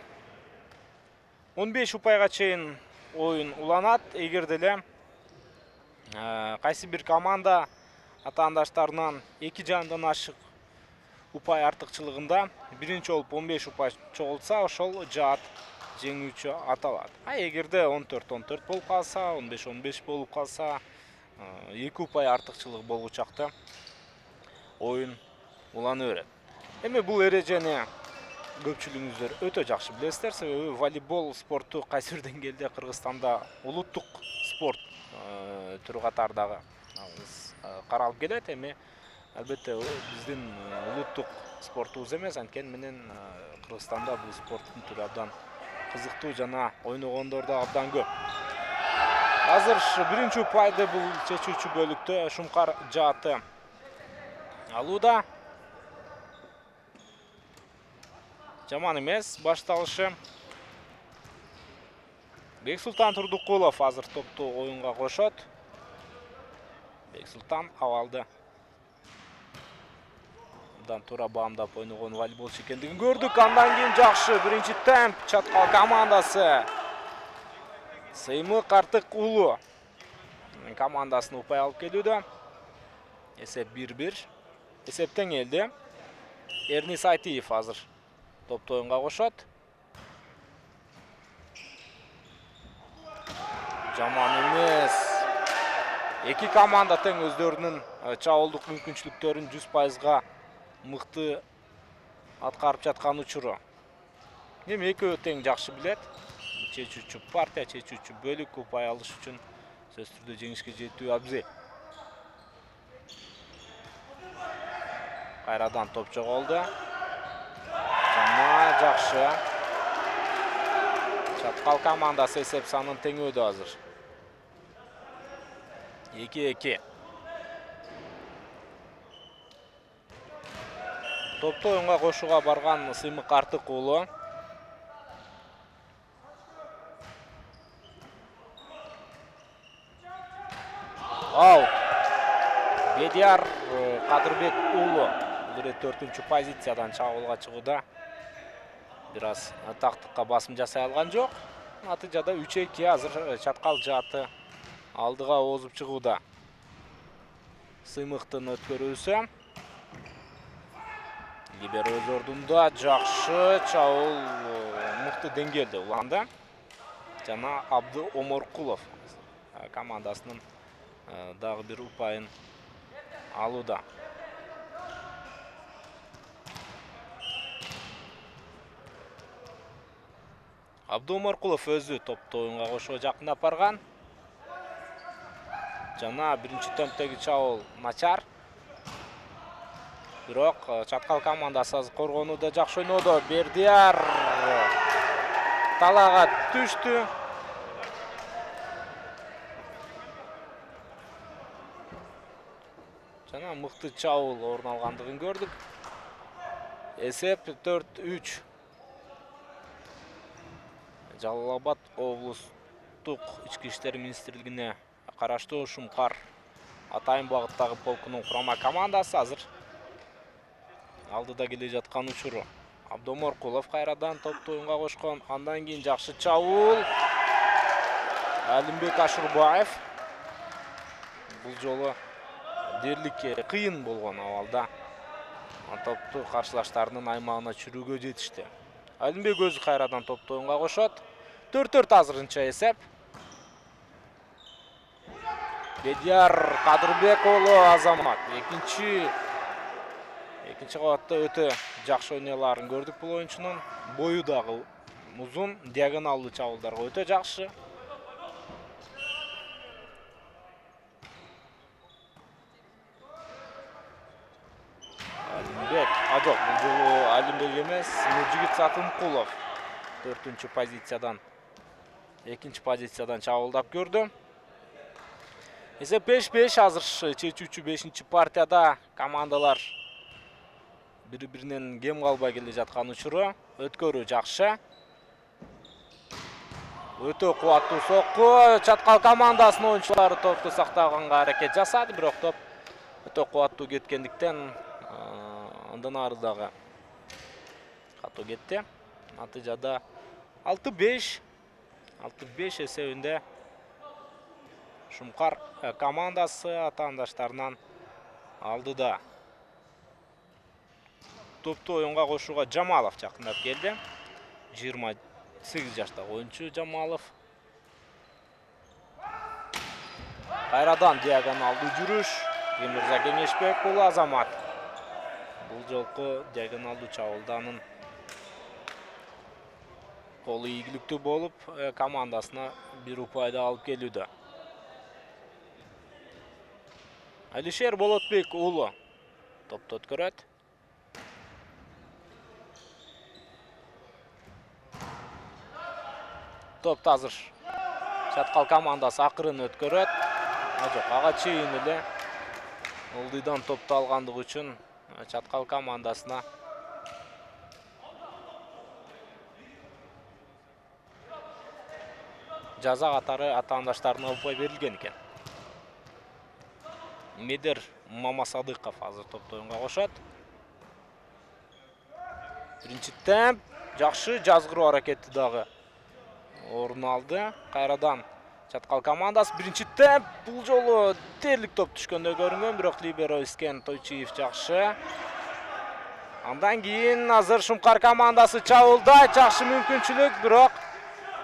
Speaker 1: он беш упайга чейин оюн уланат. Эгер деле кайсы бир команда атаандаштарынан эки жарымдан ашык упай артыкчылыгында биринчи болуп он беш упай чогултса, ошол жаат жеңүүчү аталат. А эгерде он төрт он төрт болуп калса, он беш он беш болуп калса, эки упай артыкчылык болгучакта оюн улана берет. Эми бул эрежени көпчүлүгүңүздөр өтө жакшы билесиздер, себеби волейбол спорту кайсы бир деңгээлде Кыргызстанда улуттук спорт түрү катардагы каралып келет. Эми албетте биздин улуттук спортубуз эмес, анткени менен Кыргызстанда бул спорттун түрү абдан кызыктуу жана ойногондор да абдан көп. Азыр биринчи упайды бул чечүүчү бөлүктө Шумкар жааты алууда. Жаман эмес башталышы. Бексултан Турдукулов азыр топту оюнга кошот. Бексултан абалды абдан туура баамдап ойногон волейболчу экендигин көрдүк. Андан кийин жакшы биринчи темп Чаткал командасы Сыймы Картык уулу командасын упай алып келүүдө. Эсеп бир бир. Эсеп теңелди. Эрнис Айтиев азыр топту оюнга кошот. Жаман эмес. Эки команда тең өздөрүнүн чабуулдук мүмкүнчүлүктөрүн жүз пайызга мыкты аткарып жаткан учуру. Эми экөө тең жакшы билет. Чечүүчү партия, чечүүчү бөлүк упай алыш үчүн сөзсүз түрдө жеңишке жетүү абзел. Кайрадан топ жоголду. Жана жакшы. Чаткал командасы эсеп санын теңөөдө азыр. эки эки. Топто оюнга кошууга барган Сыймык Артык уулу. Аут. Бедияр Кадырбек уулу бул төртүнчү позициядан чабуулга чыгууда. Бир аз тактыкка басым жасай алган жок. Натыйжада үч эки азыр чаткал жааты алдыга озуп чыгууда. Сыймыктын өткөрүүсү. Либеро өз ордунда жакшы чабуул мыкты деңгээлде уланды. Жана Абды Оморкулов командасынын дагы бир упайын алууда. Абды Оморкулов өзү топто оюнга кошууга жакындап барган. Жана биринчи темптеги чабуул начар. Бирок чаткал командасы азыр коргонууда жакшы ойнодо. Бердияр талаага түштү. Жана мыкты чабуул орун алгандыгын көрдүк. Эсеп төрт үч. Жалал Абад облустук ички иштер министрлигине караштуу Шумкар Атайын багыттагы полкунун курама командасы азыр алдыда келе жаткан учуру. Абды Оморкулов кайрадан топту оюнга кошкон. Андан кийин жакшы чабуул. Алимбек Ашурбаев. Бул жолу дерлик кыйын болгон абалда топту каршылаштарынын аймагына чүрүүгө жетишти. Алимбек өзү кайрадан топту оюнга кошот. төрт төрт азырынча эсеп. Бедияр Кадырбек уулу Азамат экинчи экинчи кабатта өтө жакшы ойноларын көрдүк бул оюнчунун. Бою дагы узун, диагоналдуу чабуулдарга өтө жакшы. Алимбек, а жок, бул жолу Алимбек эмес, Нуржигит Сатымкулов төртүнчү позициядан экинчи позициядан чабуулдап көрдү. Эсеп беш беш азыр чечүүчү бешинчи партияда командалар бири-биринен кем калбай келе жаткан учуру. Өткөрүү жакшы. Өтө кубаттуу сокку. Чаткал командасынын оюнчулары топту сактаганга аракет жасады, бирок топ өтө кубаттуу кеткендиктен андан ары дагы катуу кетти. Натыйжада алты беш алты беш эсебинде Шумкар командасы атаандаштарынан алдыда. Топту оюнга кошууга Жамалов жакындап келди. жыйырма сегиз жаштагы оюнчу Жамалов. Кайрадан диагоналдуу жүрүш. Эмирза Кеңешбек уулу Азамат. Бул жолку диагоналдуу чабуулданын колу ийгиликтүү болуп, командасына бир упайды алып келүүдө. Алишер Болотбек уулу топту өткөрөт. Топту азыр чаткал командасы акырын өткөрөт. А жок, ага чейин эле ылдыйдан топту алгандыгы үчүн чаткал командасына жаза катары атаандаштарына упай берилген экен. Медер Мамасадыков азыр топту оюнга кошот. Биринчи темп жакшы жазгыруу аракети дагы орун алды. Кайрадан чаткал командасы биринчи темп бул жолу дерлик топ түшкөндөй көрүнгөн, бирок либеро Искен Тойчиев жакшы. Андан кийин азыр Шумкар командасы чабуулда жакшы мүмкүнчүлүк, бирок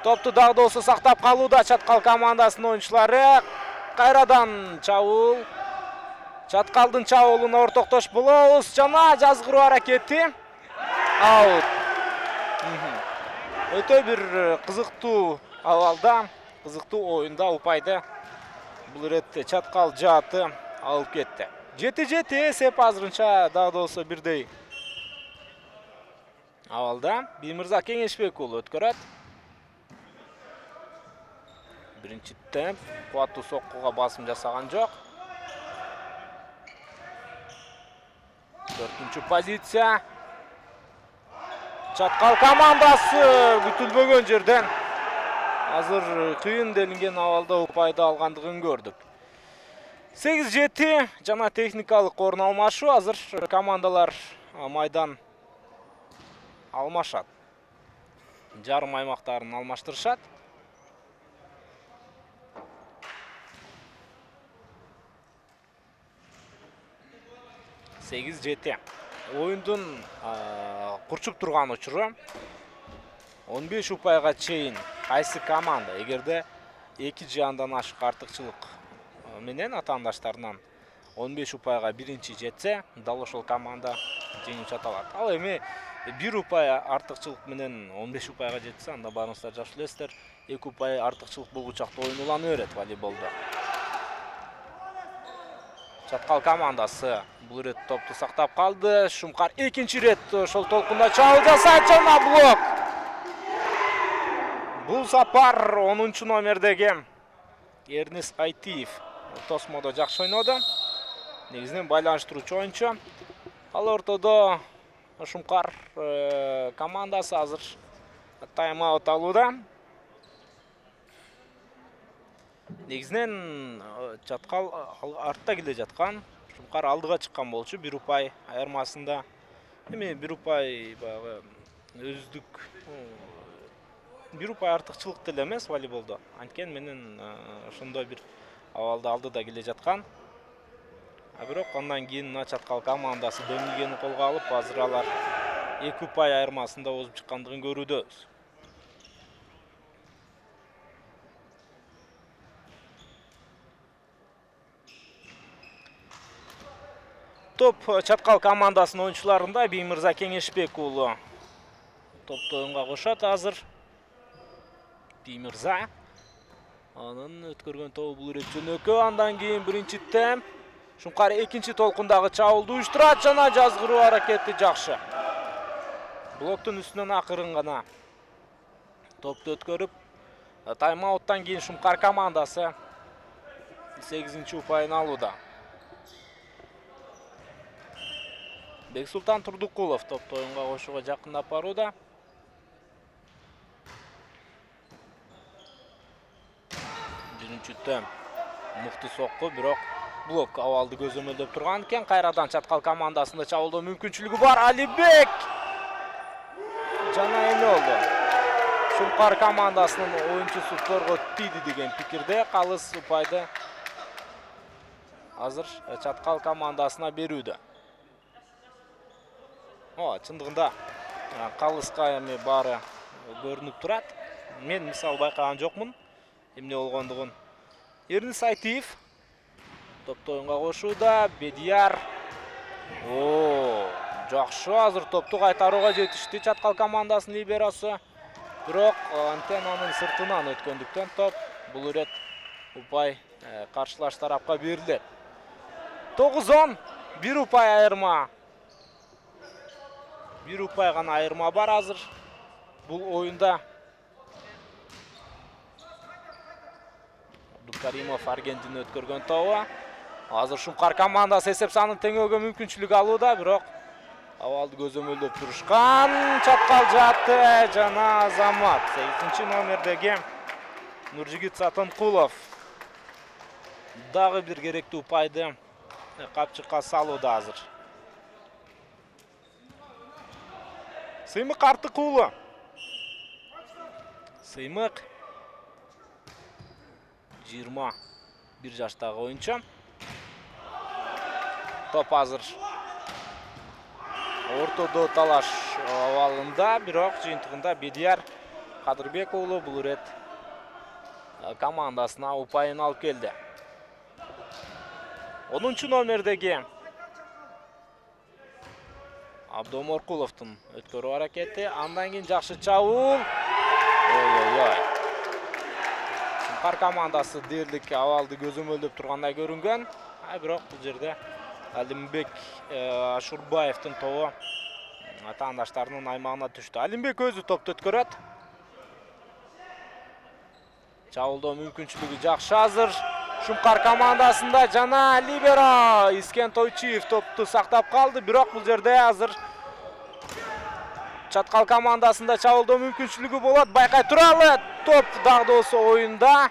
Speaker 1: топту дагы да болсо сактап калууда чаткал командасынын оюнчулары. Кайрадан чабуул. Чаткалдын чабуулуна ортоктош болобуз. Жана жазгыруу аракети. аут. Өтө бир кызыктуу абалда, кызыктуу оюнда упайды бул иретте чаткал жааты алып кетти. жети жети эсеп азырынча дагы да болсо бирдей абалда. Биймырза Кеңешбек уулу өткөрөт. Биринчи темп, кубаттуу соккуга басым жасаган жок. Төртүнчү позиция. Чаткал командасы күтүлбөгөн жерден азыр кыйын делинген абалда упайды алгандыгын көрдүк. сегиз жети жана техникалык орун алмашуу. Азыр командалар майдан алмашат. Жарым аймактарын алмаштырышат. сегиз жети. Оюндун курчуп турган учуру он беш упайга чейин кайсы команда эгерде эки же андан ашык артыкчылык менен атаандаштарынан он беш упайга биринчи жетсе, дал ошол команда жеңүүчү аталат. Ал эми бир упай артыкчылык менен он беш упайга жетсе, анда баарыңыздар жакшы билесиздер, эки упай артыкчылык болгучакта оюн улана берет волейболдо. Чаткал командасы бул ирет топту сактап калды. Шумкар экинчи рет ошол толкунда чабуул жасайт жана блок. Бул сапар онунчу номердеги Эрнис Айтиев Тосмодо жакшы ойноду. Негизинен байланыштыруучу оюнчу. Ал ортодо Шумкар командасы азыр тайм-аут алууда. Негизинен чаткал артта келе жаткан, Шумкар алдыга чыккан болчу бир упай айырмасында. Эми бир упай баягы өздүк бир упай артыкчылык деле эмес волейболдо. Анткен менен ошондой бир абалда алдыда келе жаткан. А бирок андан кийин чаткал командасы демилгени колго алып, азыр алар эки упай айырмасында озуп чыккандыгын көрүүдөбүз. Топ чаткал командасынын оюнчуларында Биймырза Кеңешбек уулу топту оюнга кошот азыр. Биймырза анын өткөргөн тобу бул ирет жөнөкө. Андан кийин биринчи темп. Шумкар экинчи толкундагы чабуулду уюштурат жана жазгыруу аракети жакшы. Блоктун үстүнөн акырын гана топту өткөрүп, тайм-ауттан кийин Шумкар командасы сегизинчи упайын алууда. Бексултан Турдукулов топту оюнга кошууга жакындап барууда. Биринчи темп. Мыкты сокку, бирок блок абалды көзөмөлдөп турган экен. Кайрадан чаткал командасында чабуулдоо мүмкүнчүлүгү бар. Алибек жана эме болду. Шумкар командасынын оюнчусу торго тийди деген пикирде. Калыс упайды азыр чаткал командасына берүүдө. О, чындыгында калыска эми баары көрүнүп турат. Мен мисалы байкаган жокмун эмне болгондугун. Эрнис Айтиев топту оюнга кошууда. Бедияр. О, жакшы азыр топту кайтарууга жетишти чаткал командасынын либеросу. Бирок антеннанын сыртынан өткөндүктөн топ бул ирет упай каршылаш тарапка берилет. тогуз он, бир упай айырма. Бир упай гана айырма бар азыр бул оюнда. Абдукаримов Аргентин өткөргөн тобу. Азыр Шумкар командасы эсеп санын теңөөгө мүмкүнчүлүк алууда, бирок абалды көзөмөлдөп турушкан. Чаткал жааты жана Азамат. сегизинчи номердеги Нуржигит Сатынкулов дагы бир керектүү упайды капчыкка салууда азыр. Сыймык Артык уулу. Сыймык жыйырма бир жаштагы оюнчу. Топ азыр ортодо талаш абалында, бирок жыйынтыгында Бедияр Кадырбек уулу бул ирет командасына упайын алып келди. онунчу номердеги Абдоморкуловдун өткөрүү аракети. Андан кийин жакшы чабуул. Ой-ой-ой. Шумкар командасы дээрлик абалды көзөмөлдөп тургандай көрүнгөн. А бирок бул жерде Алимбек Ашурбаевдин тобу атаандаштарынын аймагына түштү. Алимбек өзү топту өткөрөт. Чабуулдоо мүмкүнчүлүгү жакшы азыр. Шумкар командасында жана либеро Искен Тойчиев топту сактап калды, бирок бул жерде азыр Чаткал командасында чабуулдоо мүмкүнчүлүгү болот. Байкай туралы. Топ дагы да болсо оюнда.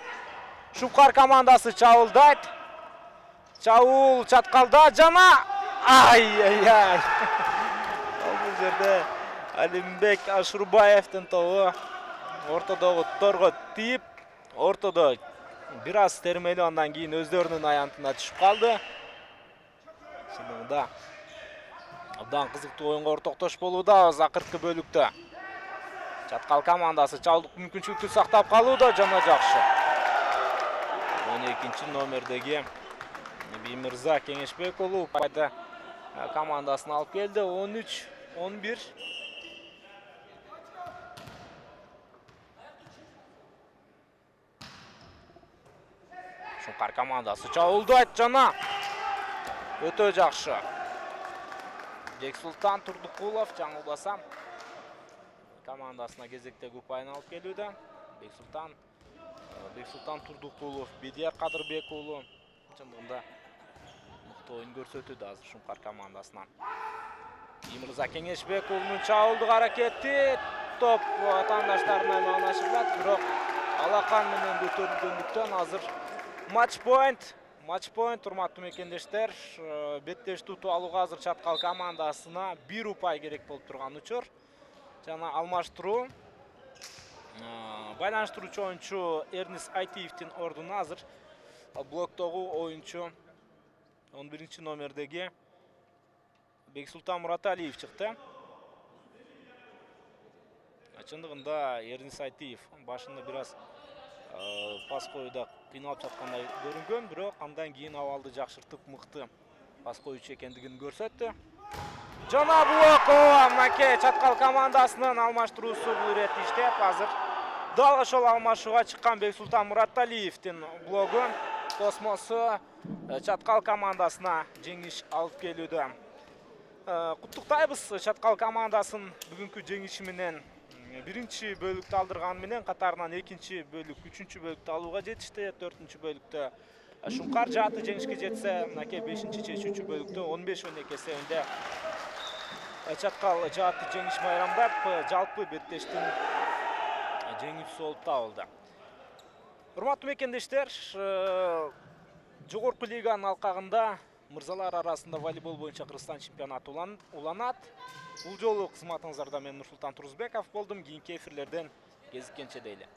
Speaker 1: Шумкар командасы чабуулдайт. Чабуул Чаткалда жана ай-ай-ай. Бул жерде Алимбек Ашурбаевдин тобу ортодогу торго тийип, ортодо бир аз термелүү, андан кийин өздөрүнүн аянтына түшүп калды. Чындыгында абдан кызыктуу оюнга ортоктош болууда акыркы бөлүктө. Чаткал командасы чабуулдык мүмкүнчүлүктү сактап калууда жана жакшы. он экинчи номердеги Биймирза Кеңешбек уулу пайда командасын алып келди. он үч он бир. Шумкар командасы чабуулдайт жана өтө жакшы. Бексултан Турдукулов жаңылбасам командасына кезектеги упайын алып келүүдө. Бексултан Бексултан Турдукулов, Бедияр Кадырбек уулу чындыгында мыкты оюн көрсөтүүдө азыр Шумкар командасынан. Биймирза Кеңешбек уулунун чабуулдук аракети, топ атаандаштарынын аймагына ашырылат, бирок алакан менен көтөрүлгөндүктөн азыр матч point. Матч point, урматтуу мекендештер. Беттеш туту алууга азыр Чаткал командасына бир упай керек болуп турган учур. Жана алмаштыруу. Байланыштыруучу оюнчу Эрнис Айтиевдин ордуна азыр блоктогу оюнчу он биринчи номердеги Бексултан Мураталиев чыкты. Чындыгында Эрнис Айтиев башында бир аз пас коюуда кыйналып жаткандай көрүнгөн, бирок андан кийин абалды жакшыртып мыкты пас коюучу экендигин көрсөттү. Жана блок мынакей Чаткал командасынын алмаштыруусу бул иретте иштеп, азыр дал ошол алмашууга чыккан Бексултан Мураталиевдин блогу космосу Чаткал командасына жеңиш алып келүүдө. Куттуктайбыз Чаткал командасын бүгүнкү жеңиши менен. Биринчи бөлүктү алдырганы менен катарынан экинчи бөлүк, үчүнчү бөлүктү алууга жетишти. төртүнчү бөлүктө Шумкар жааты жеңишке жетсе, мынакей бешинчи чечүүчү бөлүктө он беш он эки эсебинде Чаткал жааты жеңиш майрамдап, жалпы беттештин жеңүүчүсү болуп табылды. Урматтуу мекендештер, жогорку лиганын алкагында мырзалар арасында волейбол боюнча Кыргызстан чемпионаты уланат. Бул жолу кызматыңыздарда мен Нурсултан Турузбеков болдум. Кийинки эфирлерден кезиккенче дейли.